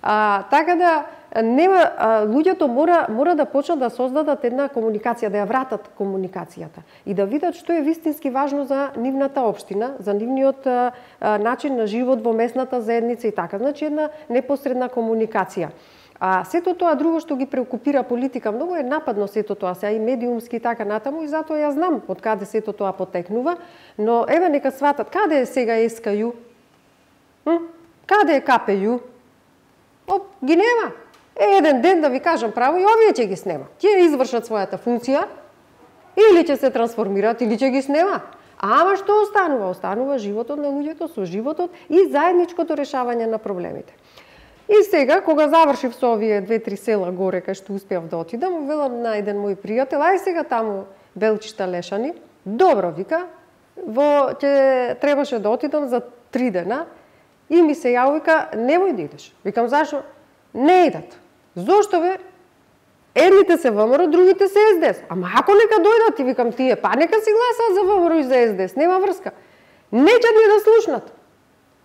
Така да нема, луѓето мора да почнат да создадат една комуникација, да ја вратат комуникацијата и да видат што е вистински важно за нивната општина, за нивниот начин на живот во местната заедница и така. Значи една непосредна комуникација. Сето тоа друго што ги преокупира политика, многу е нападно сето тоа, сега и медиумски и така натаму, и затоа ја знам од каде сето тоа потекнува, но еве нека сватат каде е сега СКЈ? Каде е КПЈ? Ги нема. Еден ден, да ви кажам право, и овие ќе ги снема. Ќе извршат својата функција, или ќе се трансформираат, или ќе ги снема. Ама што останува? Останува животот на луѓето со животот и заедничкото решавање на проблемите. И сега, кога завршив со овие 2-3 села горе, кај што успеав да отидам, велам на еден мој пријател, ај сега таму Белчишта Лешани, добро, вика, ќе требаше да отидам за 3 дена, и ми се јави, вика, немој да идеш. Викам, зашо? Не идат. Зошто бе? Едните се ВМРО, другите се СДС. Ама ако нека дојдат, и викам, тие, па нека си гласаат за ВМРО и за СДС, нема врска. Неќат ни да слушнат.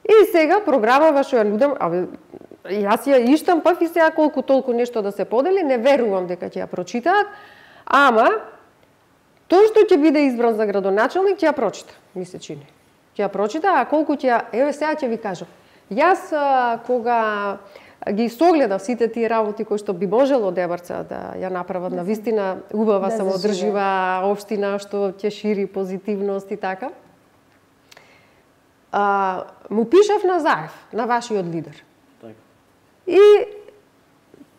И сега програмава што ја нудам, јас ја иштампав и сега колку толку нешто да се подели, не верувам дека ќе ја прочитаат, ама тоа што ќе биде избран за градоначалник, ќе ја прочита, ми се чини. Ќе ја прочита, а колку ќе ја... Еве сега ќе ви кажам. Јас кога ги согледав сите тие работи кои што би можело Дебарца да ја направат на вистина убава самоодржива општина што ќе шири позитивност и така, му пишав на Заев, на вашиот лидер. И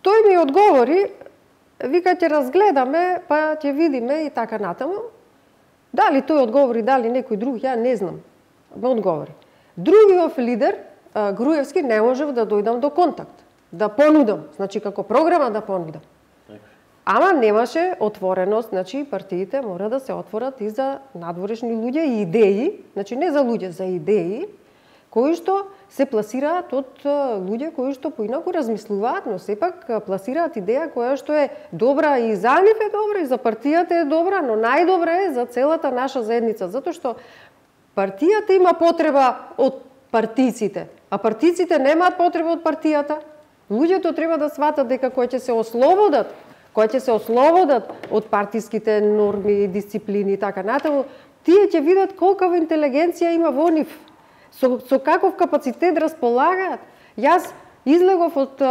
тој ми одговори, вика, ќе разгледаме, па ќе видиме и така натаму. Дали тој одговори, дали некој друг, ја не знам. Ме одговори. Другиот лидер, Груевски, не можев да дојдам до контакт, да понудам, значи како програма да понудам. Ама немаше отвореност, значи партиите мора да се отворат и за надворешни луѓе и идеи, значи не за луѓе, за идеи, кои што се пласираат од луѓе кои што поинаку размислуваат, но сепак пласираат идеја која што е добра и за нив е добра, и за партијата е добра, но најдобра е за целата наша заедница, затоа што партијата има потреба од партиците, а партиците немаат потреба од партијата. Луѓето треба да сватат дека кои ќе се ослободат од партиските норми, дисциплини и така натаму, тие ќе видат колкава интелигенција има во нив, со каков капацитет располагаат. Јас излегов од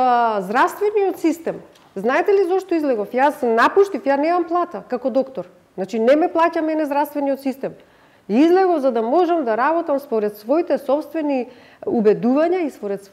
здравствениот систем. Знаете ли зошто излегов? Јас напуштив, ја немам плата како доктор. Значи не ме плаќа мене здравствениот систем. Излегов за да можам да работам според своите собствени убедувања и според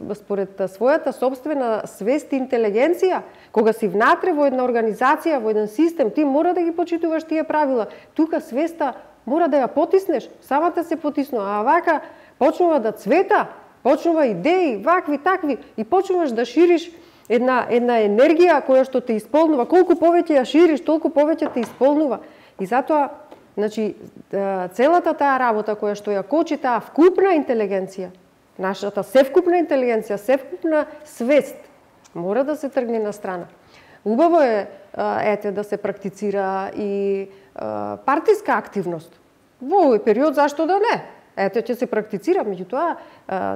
својата собствена свест и интелигенција. Кога си внатре во една организација, во еден систем, ти мора да ги почитуваш тие правила. Тука свеста мора да ја потиснеш, самата се потиснува, а вака почнува да цвета, почнува идеи, вакви, такви, и почнуваш да шириш една енергија која што те исполнува. Колку повеќе ја шириш, толку повеќе те исполнува. И затоа, значи, целата таа работа која што ја кочи таа вкупна интелигенција, нашата севкупна интелигенција, севкупна свест, мора да се тргне на страна. Убаво е, да се практицира и партиска активност. Во овој период зашто да не? Ете, ќе се практицира, меѓутоа,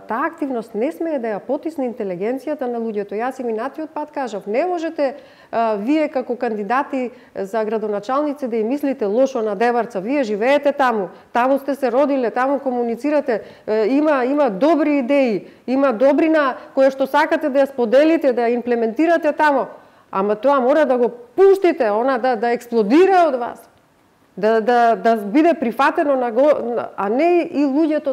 таа активност не смее да ја потисне интелигенцијата на луѓето. Јас и минатиот пат кажав, не можете вие како кандидати за градоначалници да ја мислите лошо на Деварца. Вие живеете таму, таму сте се родиле, таму комуницирате, има добри идеи, има добрина која што сакате да ја споделите, да ја имплементирате таму. Ама тоа мора да го пуштите, она да експлодира од вас. Да биде прифатено а не и луѓето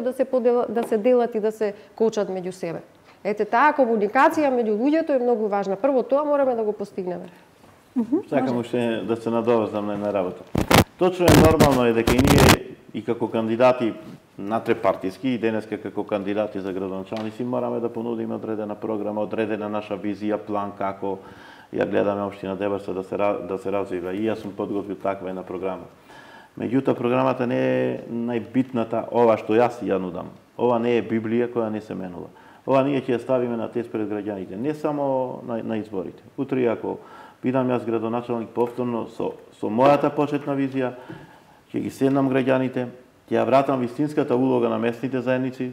да се делат и да се кочат меѓу себе. Ете, таа комуникација меѓу луѓето е многу важна. Прво тоа мораме да го постигнеме. Сакам уште да се надоврзам на една работа. Точно е нормално дека и ние и како кандидати натрепартиски и денеска како кандидати за градоначалници мораме да понудиме одредена програма, одредена наша визија, план како ја гледаме општина Деварца да се развива. И јас сум подготвил таква една програма. Меѓутоа, програмата не е најбитната, ова што јас ја нудам. Ова не е Библија која не се менува. Ова ние ќе ја ставиме на тест пред граѓаните, не само на изборите. Утре, ако бидам јас градоначалник повторно со мојата почетна визија, ќе ги седнам граѓаните, ќе ја вратам вистинската улога на местните заедници.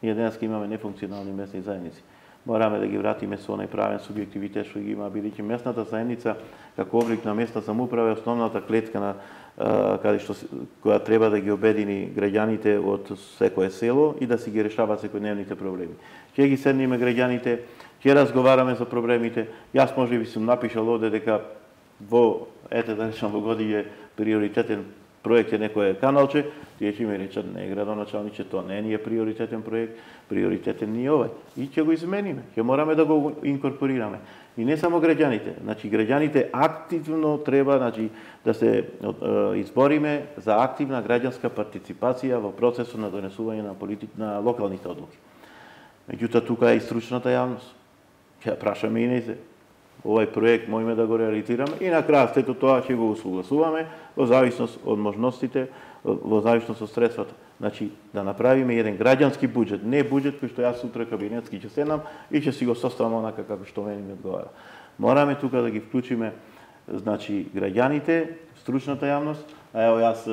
Ние денес имаме нефункционални местни заедници. Мораме да ги вратиме со онај правен субјективитет што ги има, бидејќи местната заедница како облик на местна самоуправа е основната клетка на која треба да ги обедини граѓаните од секое село и да си ги решаваат секојдневните проблеми. Ќе ги седниме граѓаните, ќе разговараме за проблемите. Јас можеби сум напишал овде дека да речам во Годије приоритетен проект е некое каналче, тие ќе ми речат не градоначалниче, тоа не е приоритетен проект, приоритетен ни овај. И ќе го измениме, ќе мораме да го инкорпорираме. И не само граѓаните, значи граѓаните активно треба да се избориме за активна граѓанска партиципација во процесот на донесување на локалните одлуки. Меѓутоа тука е и стручната јавност. Ќе прашаме и нејзе. Овај проект можеме да го реализираме и на крај сето тоа ќе го усогласуваме во зависност од можностите, во зависност од средствата. Значи, да направиме еден граѓански буџет, не буџет кој што јас утре кабинетски ќе седнам и ќе си го составам онака како што мене ми одговара. Мораме тука да ги вклучиме, значи, граѓаните, стручната јавност, а ево јас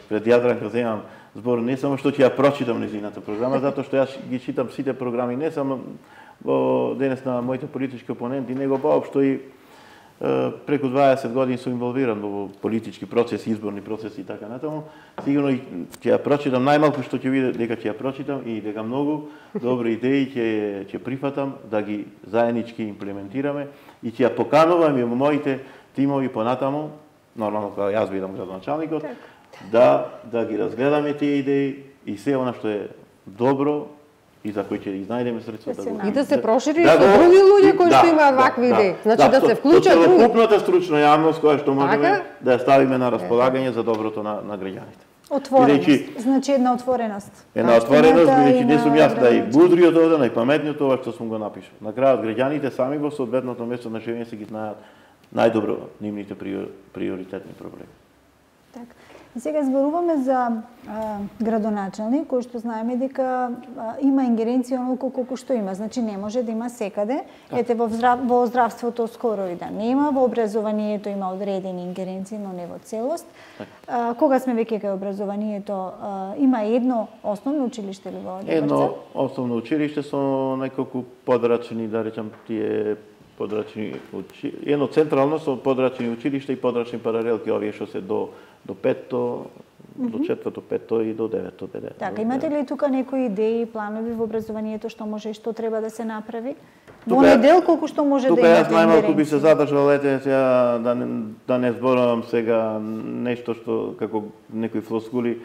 пред Јадранка земам збор не само што ќе ја прочитам нејзината програма, затоа што јас ги читам сите програми, не само во денес на моите политички опоненти, него воопшто и преку 20 години сум инволвиран во политички процеси, изборни процеси и така натаму. Сигурно ќе ја прочитам, најмалку што ќе видам дека ќе ја прочитам и дека многу добри идеи ќе прифатам да ги заеднички имплементираме и ќе ја поканувам и во моите тимови понатаму, нормално кога јас бидам градоначалникот, да ги разгледаме тие идеи и се она што е добро и за кој ќе изнајдеме средства и да се прошири со други луѓе кои што имаат вакви идеи. Значи да се вклучат други. Целокупната стручна јавност која што можеме да ја ставиме на располагање за доброто на граѓаните. Отвореност, значи една отвореност. Една отвореност, бидејќи не сум јас најмудриот овде, најпаметниот ова што сум го напишал. На крајот граѓаните сами во соодветното место на живење се ги знаат најдобро нивните приоритетни проблеми. Така. Сега зборуваме за градоначалник, кој што знаеме дека има ингеренција онолку колку што има. Значи не може да има секаде. Ете во здравството скоро и да нема, во образованието има одредени ингеренции, но не во целост. Кога сме веќе кај образованието, има едно основно училиште ли во Деварца? Едно основно училиште со неколку подрачни, да речам, тие подрачни едно централно со подрачни училишта и подрачни паралелки, овие што се до петто, до четврто, петто и до деветто. Така, имате ли тука некои идеи, планови во образованието што може и што треба да се направи? Во недел колку што може да имате ингеренција? Тука јас најмалку би се задржал, сега да не зборувам сега нешто што како некои флоскули,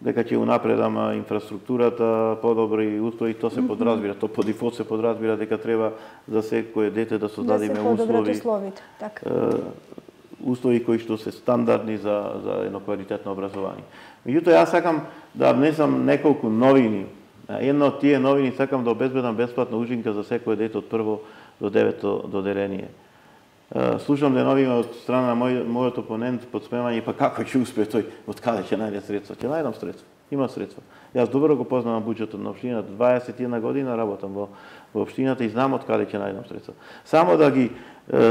дека ќе унапредам инфраструктурата, подобри услови, тоа се подразбира, тоа по дефолт се подразбира дека треба за секое дете да создадиме услови кои што се стандардни за едно квалитетно образование. Меѓутоа, јас сакам да внесам неколку новини. Една од тие новини сакам да обезбедам бесплатна ужинка за секое дете од прво до девето доделение. Слушам деновиве од страна на мојот опонент подсмевање, па како ќе успее тој, од каде ќе најде средства? Ќе најдам средства. Има средства. Јас добро го познавам буџетот на општината, 21 година работам во општината и знам од каде ќе најдам средства. Само да ги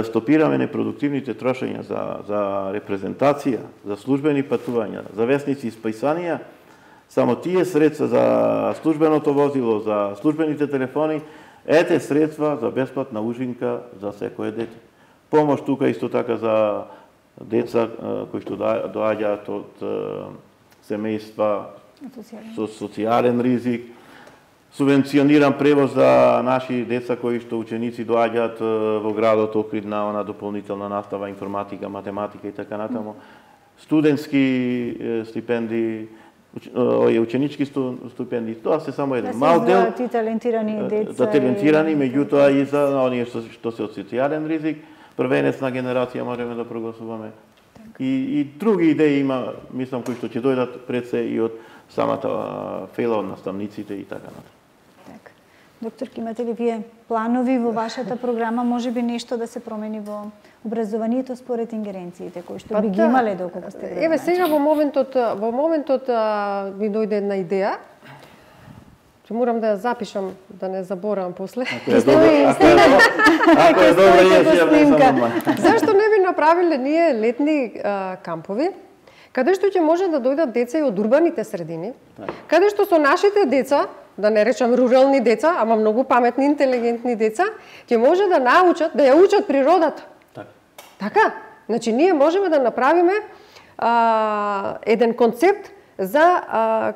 стопираме непродуктивните трошења за репрезентација, за службени патувања, за весници и списанија, само тие средства за службеното возило, за службените телефони, ете средства за бесплатна ужинка за секое дете. Помош тука исто така за деца кои што доаѓаат од семејства со социјален ризик, субвенциониран превоз за наши деца кои што ученици доаѓаат во градот Охрид на она дополнителна настава, информатика, математика и така натаму, студентски стипендии, ученички стипендии, тоа се само еден мал дел за талентирани деца, за талентирани, меѓутоа и за оние што се од социјален ризик, првенецна генерација можеме да прогласуваме. И други идеи има, мислам, кои што ќе дојдат пред се и од самата фела од наставниците и така натаму. Доктор, имате ли вие планови во вашата програма, може би нешто да се промени во образованието според ингеренциите кои што би ги имале доколку сте градоначелник? Еве сега во моментот ми дојде една идеја. Ќе морам да ја запишам, да не заборавам после. Ако е добро, Зашто не би направиле ние летни кампови, каде што ќе може да дојдат деца и од урбаните средини, каде што со нашите деца, да не речам рурални деца, ама многу паметни, интелигентни деца, ќе може да научат, да ја учат природата. Така? Значи, ние можеме да направиме еден концепт за,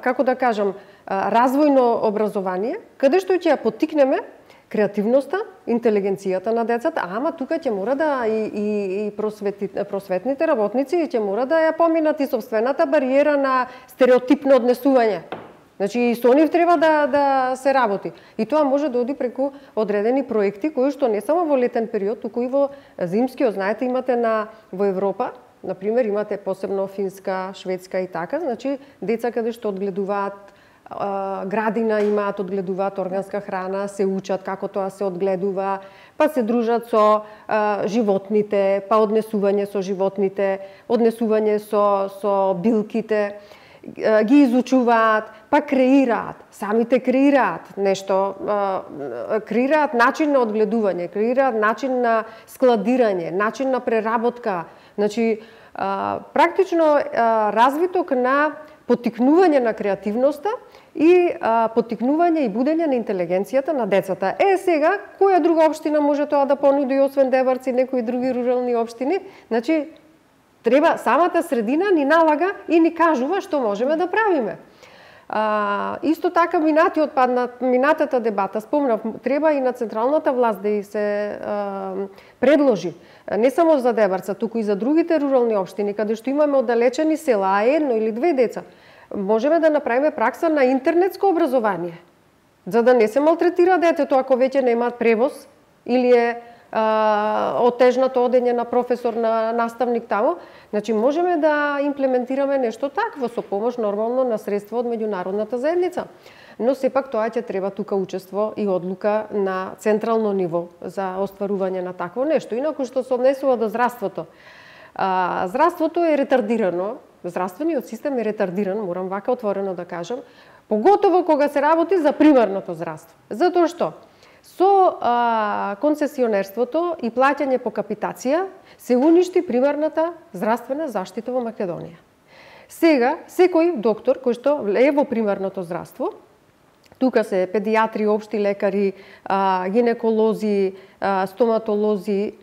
како да кажам, развојно образование, каде што ќе ја поттикнеме креативноста, интелигенцијата на децата, ама тука ќе мора да и просветните работници ќе мора да ја поминат и сопствената бариера на стереотипно однесување. Значи и со нив треба да се работи. И тоа може да оди преку одредени проекти кои што не само во летен период, туку и во зимскиот, знаете, имате во Европа, например, имате посебно Финска, Шведска и така, значи деца каде што одгледуваат градина, имаат, одгледуваат органска храна, се учат како тоа се одгледува, па се дружат со животните, па однесување со животните, однесување со билките, ги изучуваат, па креираат, самите креираат нешто, креираат начин на одгледување, креираат начин на складирање, начин на преработка. Значи, практично развиток на поттикнување на креативноста и поттикнување и будење на интелигенцијата на децата. Сега, која друга општина може тоа да понуди, освен Дебарци, некои други рурални општини? Значи, треба самата средина ни налага и ни кажува што можеме да правиме. Исто така, минатата дебата, спомнав, треба и на централната власт да и се предложи, не само за Дебарца, туку и за другите рурални општини, каде што имаме оддалечени села, а едно или две деца, можеме да направиме пракса на интернетско образование, за да не се малтретира детето ако веќе нема превоз или е отежнато одење на професор, на наставник тамо. Значи, можеме да имплементираме нешто такво со помош нормално на средства од меѓународната заедница. Но сепак тоа ќе треба тука учество и одлука на централно ниво за остварување на такво нешто. Инаку што се однесува до здравството. Здравството е ретардирано, здравствениот систем е ретардиран, морам вака отворено да кажам, поготово кога се работи за примарното здравство. Затоа што со концесионерството и плаќање по капитација се уништи примарната здравствена заштита во Македонија. Сега, секој доктор кој што е во примарното здравство, тука се педиатри, општи лекари, гинеколози, стоматолози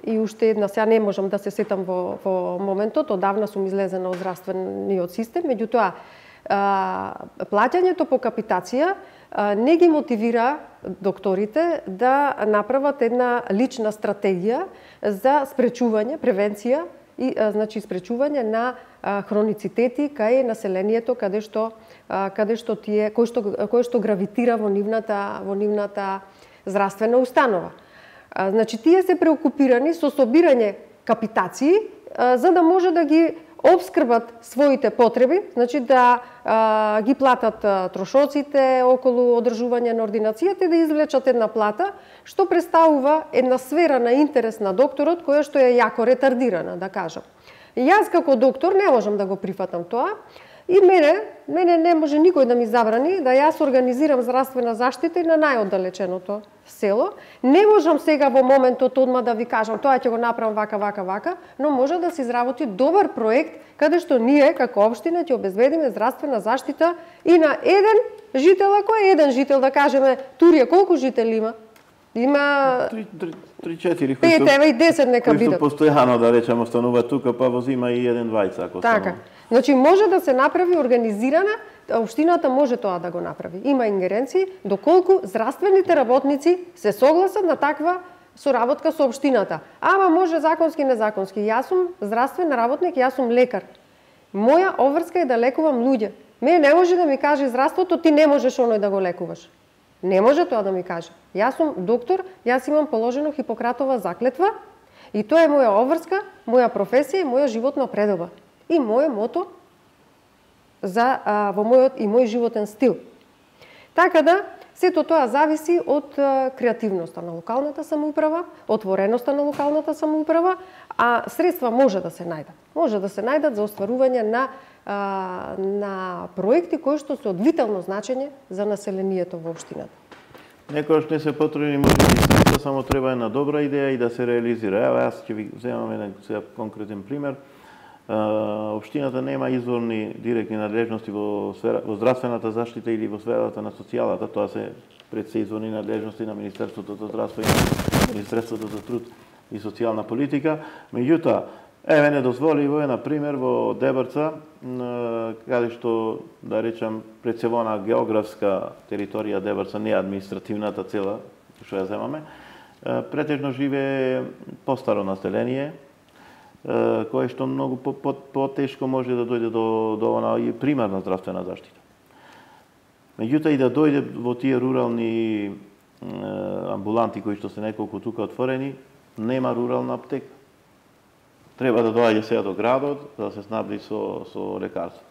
и уште една, сега не можам да се сетам во моментот, одавна сум излезена од здравствениот систем, меѓутоа плаќањето по капитација не ги мотивира докторите да направат една лична стратегија за спречување, превенција и значи спречување на хроницитети кај населението каде што кој што гравитира во нивната здравствена установа. Значи тие се преокупирани со собирање капитации за да може да ги обскрбат своите потреби, значи да ги платат трошоците околу одржување на ординацијата и да извлечат една плата, што представува една сфера на интерес на докторот која што е јако ретардирана, да кажам. Јас како доктор не можам да го прифатам тоа. И мене не може никој да ми забрани да јас организирам здравствена заштита и на најоддалеченото село. Не можам сега во моментот одма да ви кажам тоа ќе го направам вака, но може да се изработи добар проект каде што ние како општина ќе обезбедиме здравствена заштита и на еден жител, ако е еден жител, да кажеме Турија колку жители има? Има 3-4 5, ева и 10 нека бидат. Кои постојано да речеме остануваат тука, па возима и 1-2 ако така. Значи може да се направи организирана, општината може тоа да го направи. Има ингеренции доколку здравствените работници се согласат на таква соработка со општината. Ама може законски, незаконски. Јас сум здравствен работник, јас сум лекар. Моја обврска е да лекувам луѓе. Мене не може да ми каже здравството ти не можеш оној да го лекуваш. Не може тоа да ми каже. Јас сум доктор, јас имам положено Хипократова заклетва и тоа е моја обврска, моја професија и моја животна предоба. И моје мото во мојот и мој животен стил. Така да, сето тоа зависи од креативноста на локалната самоуправа, отвореноста на локалната самоуправа, а средства може да се најдат. Може да се најдат за остварување на проекти кои што се од витално значење за населението во општината. Некојаш не се потребни може би средства, само треба една добра идеја и да се реализира. Ева, јас ќе ви земам еден конкретен пример. Општината нема изворни директни надлежности во здравствената заштита или во сферата на социјалата, тоа се пред се изворни надлежности на Министерството за здравство и Министерството за труд и социјална политика. Меѓутоа, еве не дозволиво е, на пример, во Дебрца, каде што, да речам, пред се во географска територија Дебрца, не административната цела, што ја земаме, претежно живее постаро население, кое што многу потешко може да дојде до она и примарна здравствена заштита. Меѓутоа и да дојде во тие рурални амбуланти кои што се неколку тука отворени, нема рурална аптека. Треба да доаѓа сега до градот да се снабди со лекарство.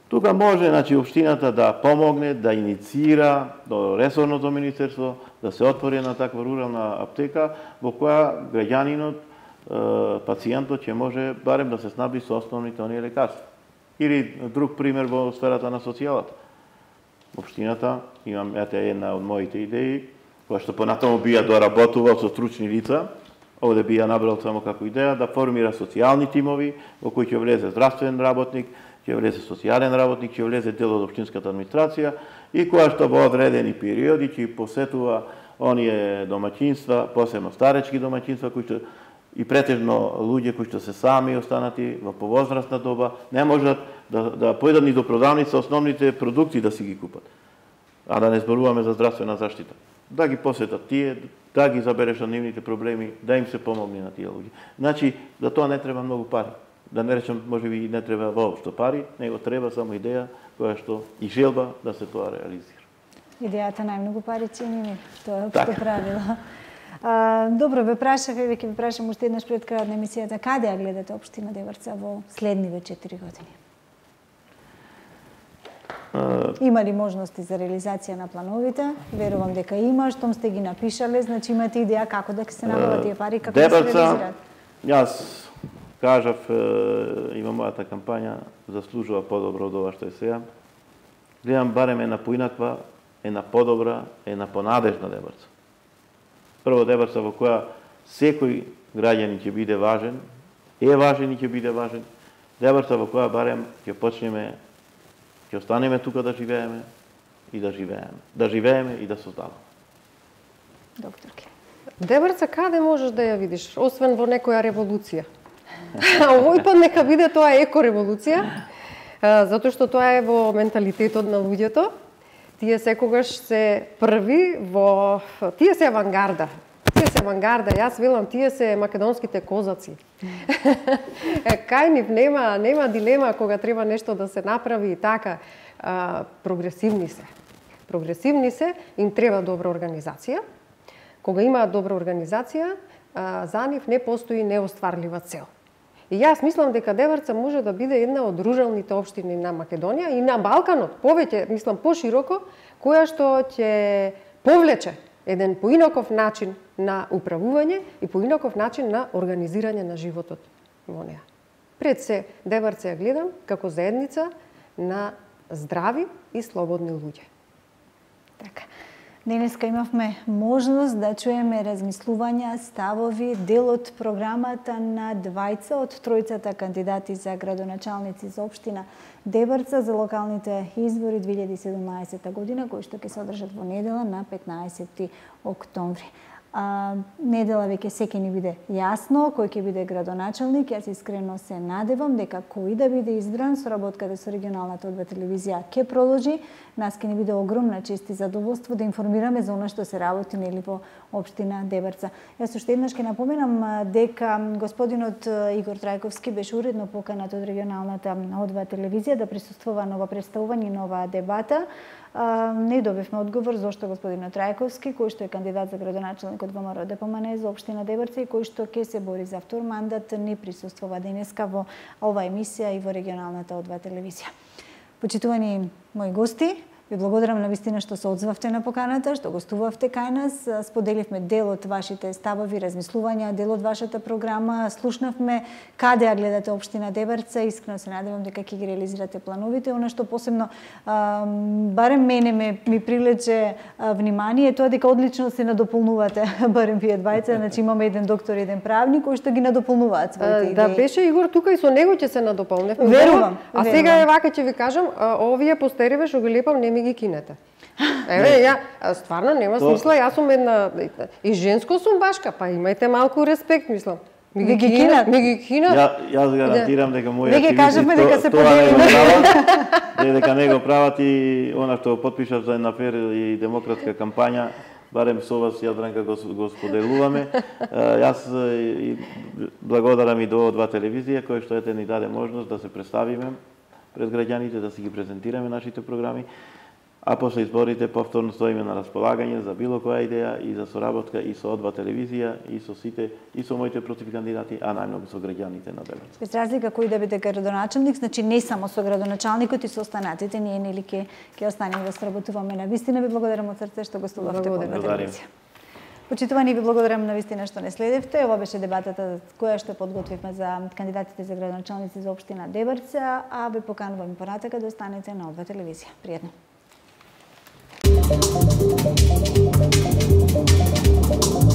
Тука може, значи, општината да помогне, да инициира до ресорното министерство да се отвори една таква рурална аптека во која граѓанинот, пациентот ќе може барем да се снабди со основните оние лекарства. Или друг пример во сферата на социјалата. Општината, имам една од моите идеи, која што понатаму би ја доработувал со стручни лица, овде би ја набрал само како идеја, да формира социјални тимови во кои ќе влезе здравствен работник, ќе влезе социјален работник, ќе влезе дел од општинската администрација и која што во одредени периоди ќе посетува оние домаќинства, посебно старечки домаќинства, кои што и претежно луѓе кои што се сами останати во повозрастна доба, не можат да појдат ни до продавница основните продукти да си ги купат. А да не зборуваме за здравствена заштита. Да ги посетат тие, да ги заберешат нивните проблеми, да им се помогне на тие луѓе. Значи, за тоа не треба многу пари. Да не речем, можеби не треба воопшто пари, него треба само идеја која што и желба да се тоа реализира. Идејата најмногу пари цени ми, тоа е општо правило. Добро, ве прашав, еве ќе ве прашам уште еднаш пред крајот на емисијата, каде ја гледате општина Дебрца во следниве 4 години? Има ли можности за реализација на плановите? Верувам дека има, штом сте ги напишале, значи имате идеја како да се набават тие пари, како да се реализираат? Јас кажав, има мојата кампања, заслужува подобро од ова што е сега. Гледам барем една поинаква, една подобра, една понадежна Дебрца. Прво Дебрца во која секој граѓанин ќе биде важен, е важен и ќе биде важен. Дебрца во која барем ќе почнеме, ќе останеме тука да живееме и да живееме. Да живееме и да создаваме. Докторке. Дебрца каде можеш да ја видиш, освен во некоја револуција? Овој пат нека биде тоа екореволуција, затоа што тоа е во менталитетот на луѓето. Тие секогаш се први во... Тие се авангарда. Јас велам, тие се македонските козаци. Кај нив нема дилема кога треба нешто да се направи и така. Прогресивни се, им треба добра организација. Кога имаат добра организација, за нив не постои неостварлива цел. И јас мислам дека Дебрца може да биде една од руралните општини на Македонија и на Балканот, повеќе, мислам, пошироко, која што ќе повлече еден поинаков начин на управување и поинаков начин на организирање на животот во неа. Пред се, Дебарца ја гледам како заедница на здрави и слободни луѓе. Така. Денеска имавме можност да чуеме размислувања, ставови, дел од програмата на двајца од тројцата кандидати за градоначалници за општина Дебарца за локалните избори 2017 година, кои што ќе се одржат во недела на 15 октомври. Недела веќе секи ни биде јасно кој ќе биде градоначалник. Јас искрено се надевам дека кој да биде избран, соработката со регионалната ОДВ телевизија ќе продолжи. Нас ќе ни биде огромна чест и задоволство да информираме за она што се работи нели во општина Дебарца. Јас уште еднаш ќе напоменам дека господинот Игор Трајковски беше уредно поканат од регионалната ОДВ телевизија да присуствува на ова представување, на оваа дебата. Не добивме одговор зошто господинот Трајковски, кој што е кандидат за градоначалник од ВМРО ДПМН за општина Дебарца и кој што ќе се бори за втор мандат, не присуствува денеска во оваа емисија и во регионалната ОДВ телевизија. Почитувани мои гости, ви благодарам на вистина што се одзвавте на поканата, што гостувавте кај нас, споделивме дел од вашите ставови, размислувања, дел од вашата програма, слушнавме каде ја гледате општина Дебарца, искрено се надевам дека ќе ги реализирате плановите. Она што посебно барем мене ми привлече внимание тоа дека одлично се надополнувате, барем вие двајца, значи имаме еден доктор и еден правник кои што ги надополнуваат своите идеи. Да беше Игор тука и со него ќе се надополневме. Верувам. А сега е вака ќе ви кажам, овие постериве што ги лепам не ми ги кинете. Еве, ја стварно нема смисла, јас сум една и женско сум башка, па имајте малку респект, мислам. Ми ги кинат. Јас гарантирам дека мојот активисти кажеме дека се поделиме. Дека не го прават и она што потпишав за една фер и демократска кампања, барем со вас, Јадранка, го споделуваме. Јас благодарам и до ОДВ телевизија, кој што ете ни даде можност да се представиме пред граѓаните, да си ги презентираме нашите програми, а после изборите повторно стоиме на располагање за било која идеја и за соработка и со ОДВ телевизија, и со сите, и со моите противкандидати, а најмногу со граѓаните на Дебарца. Без разлика кој да биде градоначалник, значи не само со градоначалникот и со останатите, ние нели ќе останеме да сработуваме. На вистина ви благодарам од срце што гостувавте во телевизија. Почитувани, ви благодарам на вистина што не следевте. Ова беше дебатата која што подготвивме за кандидатите за градоначалници за општина Дебарца, а ве поканувам понатака да останете на ОДВ телевизија. Пријатно. Thank you.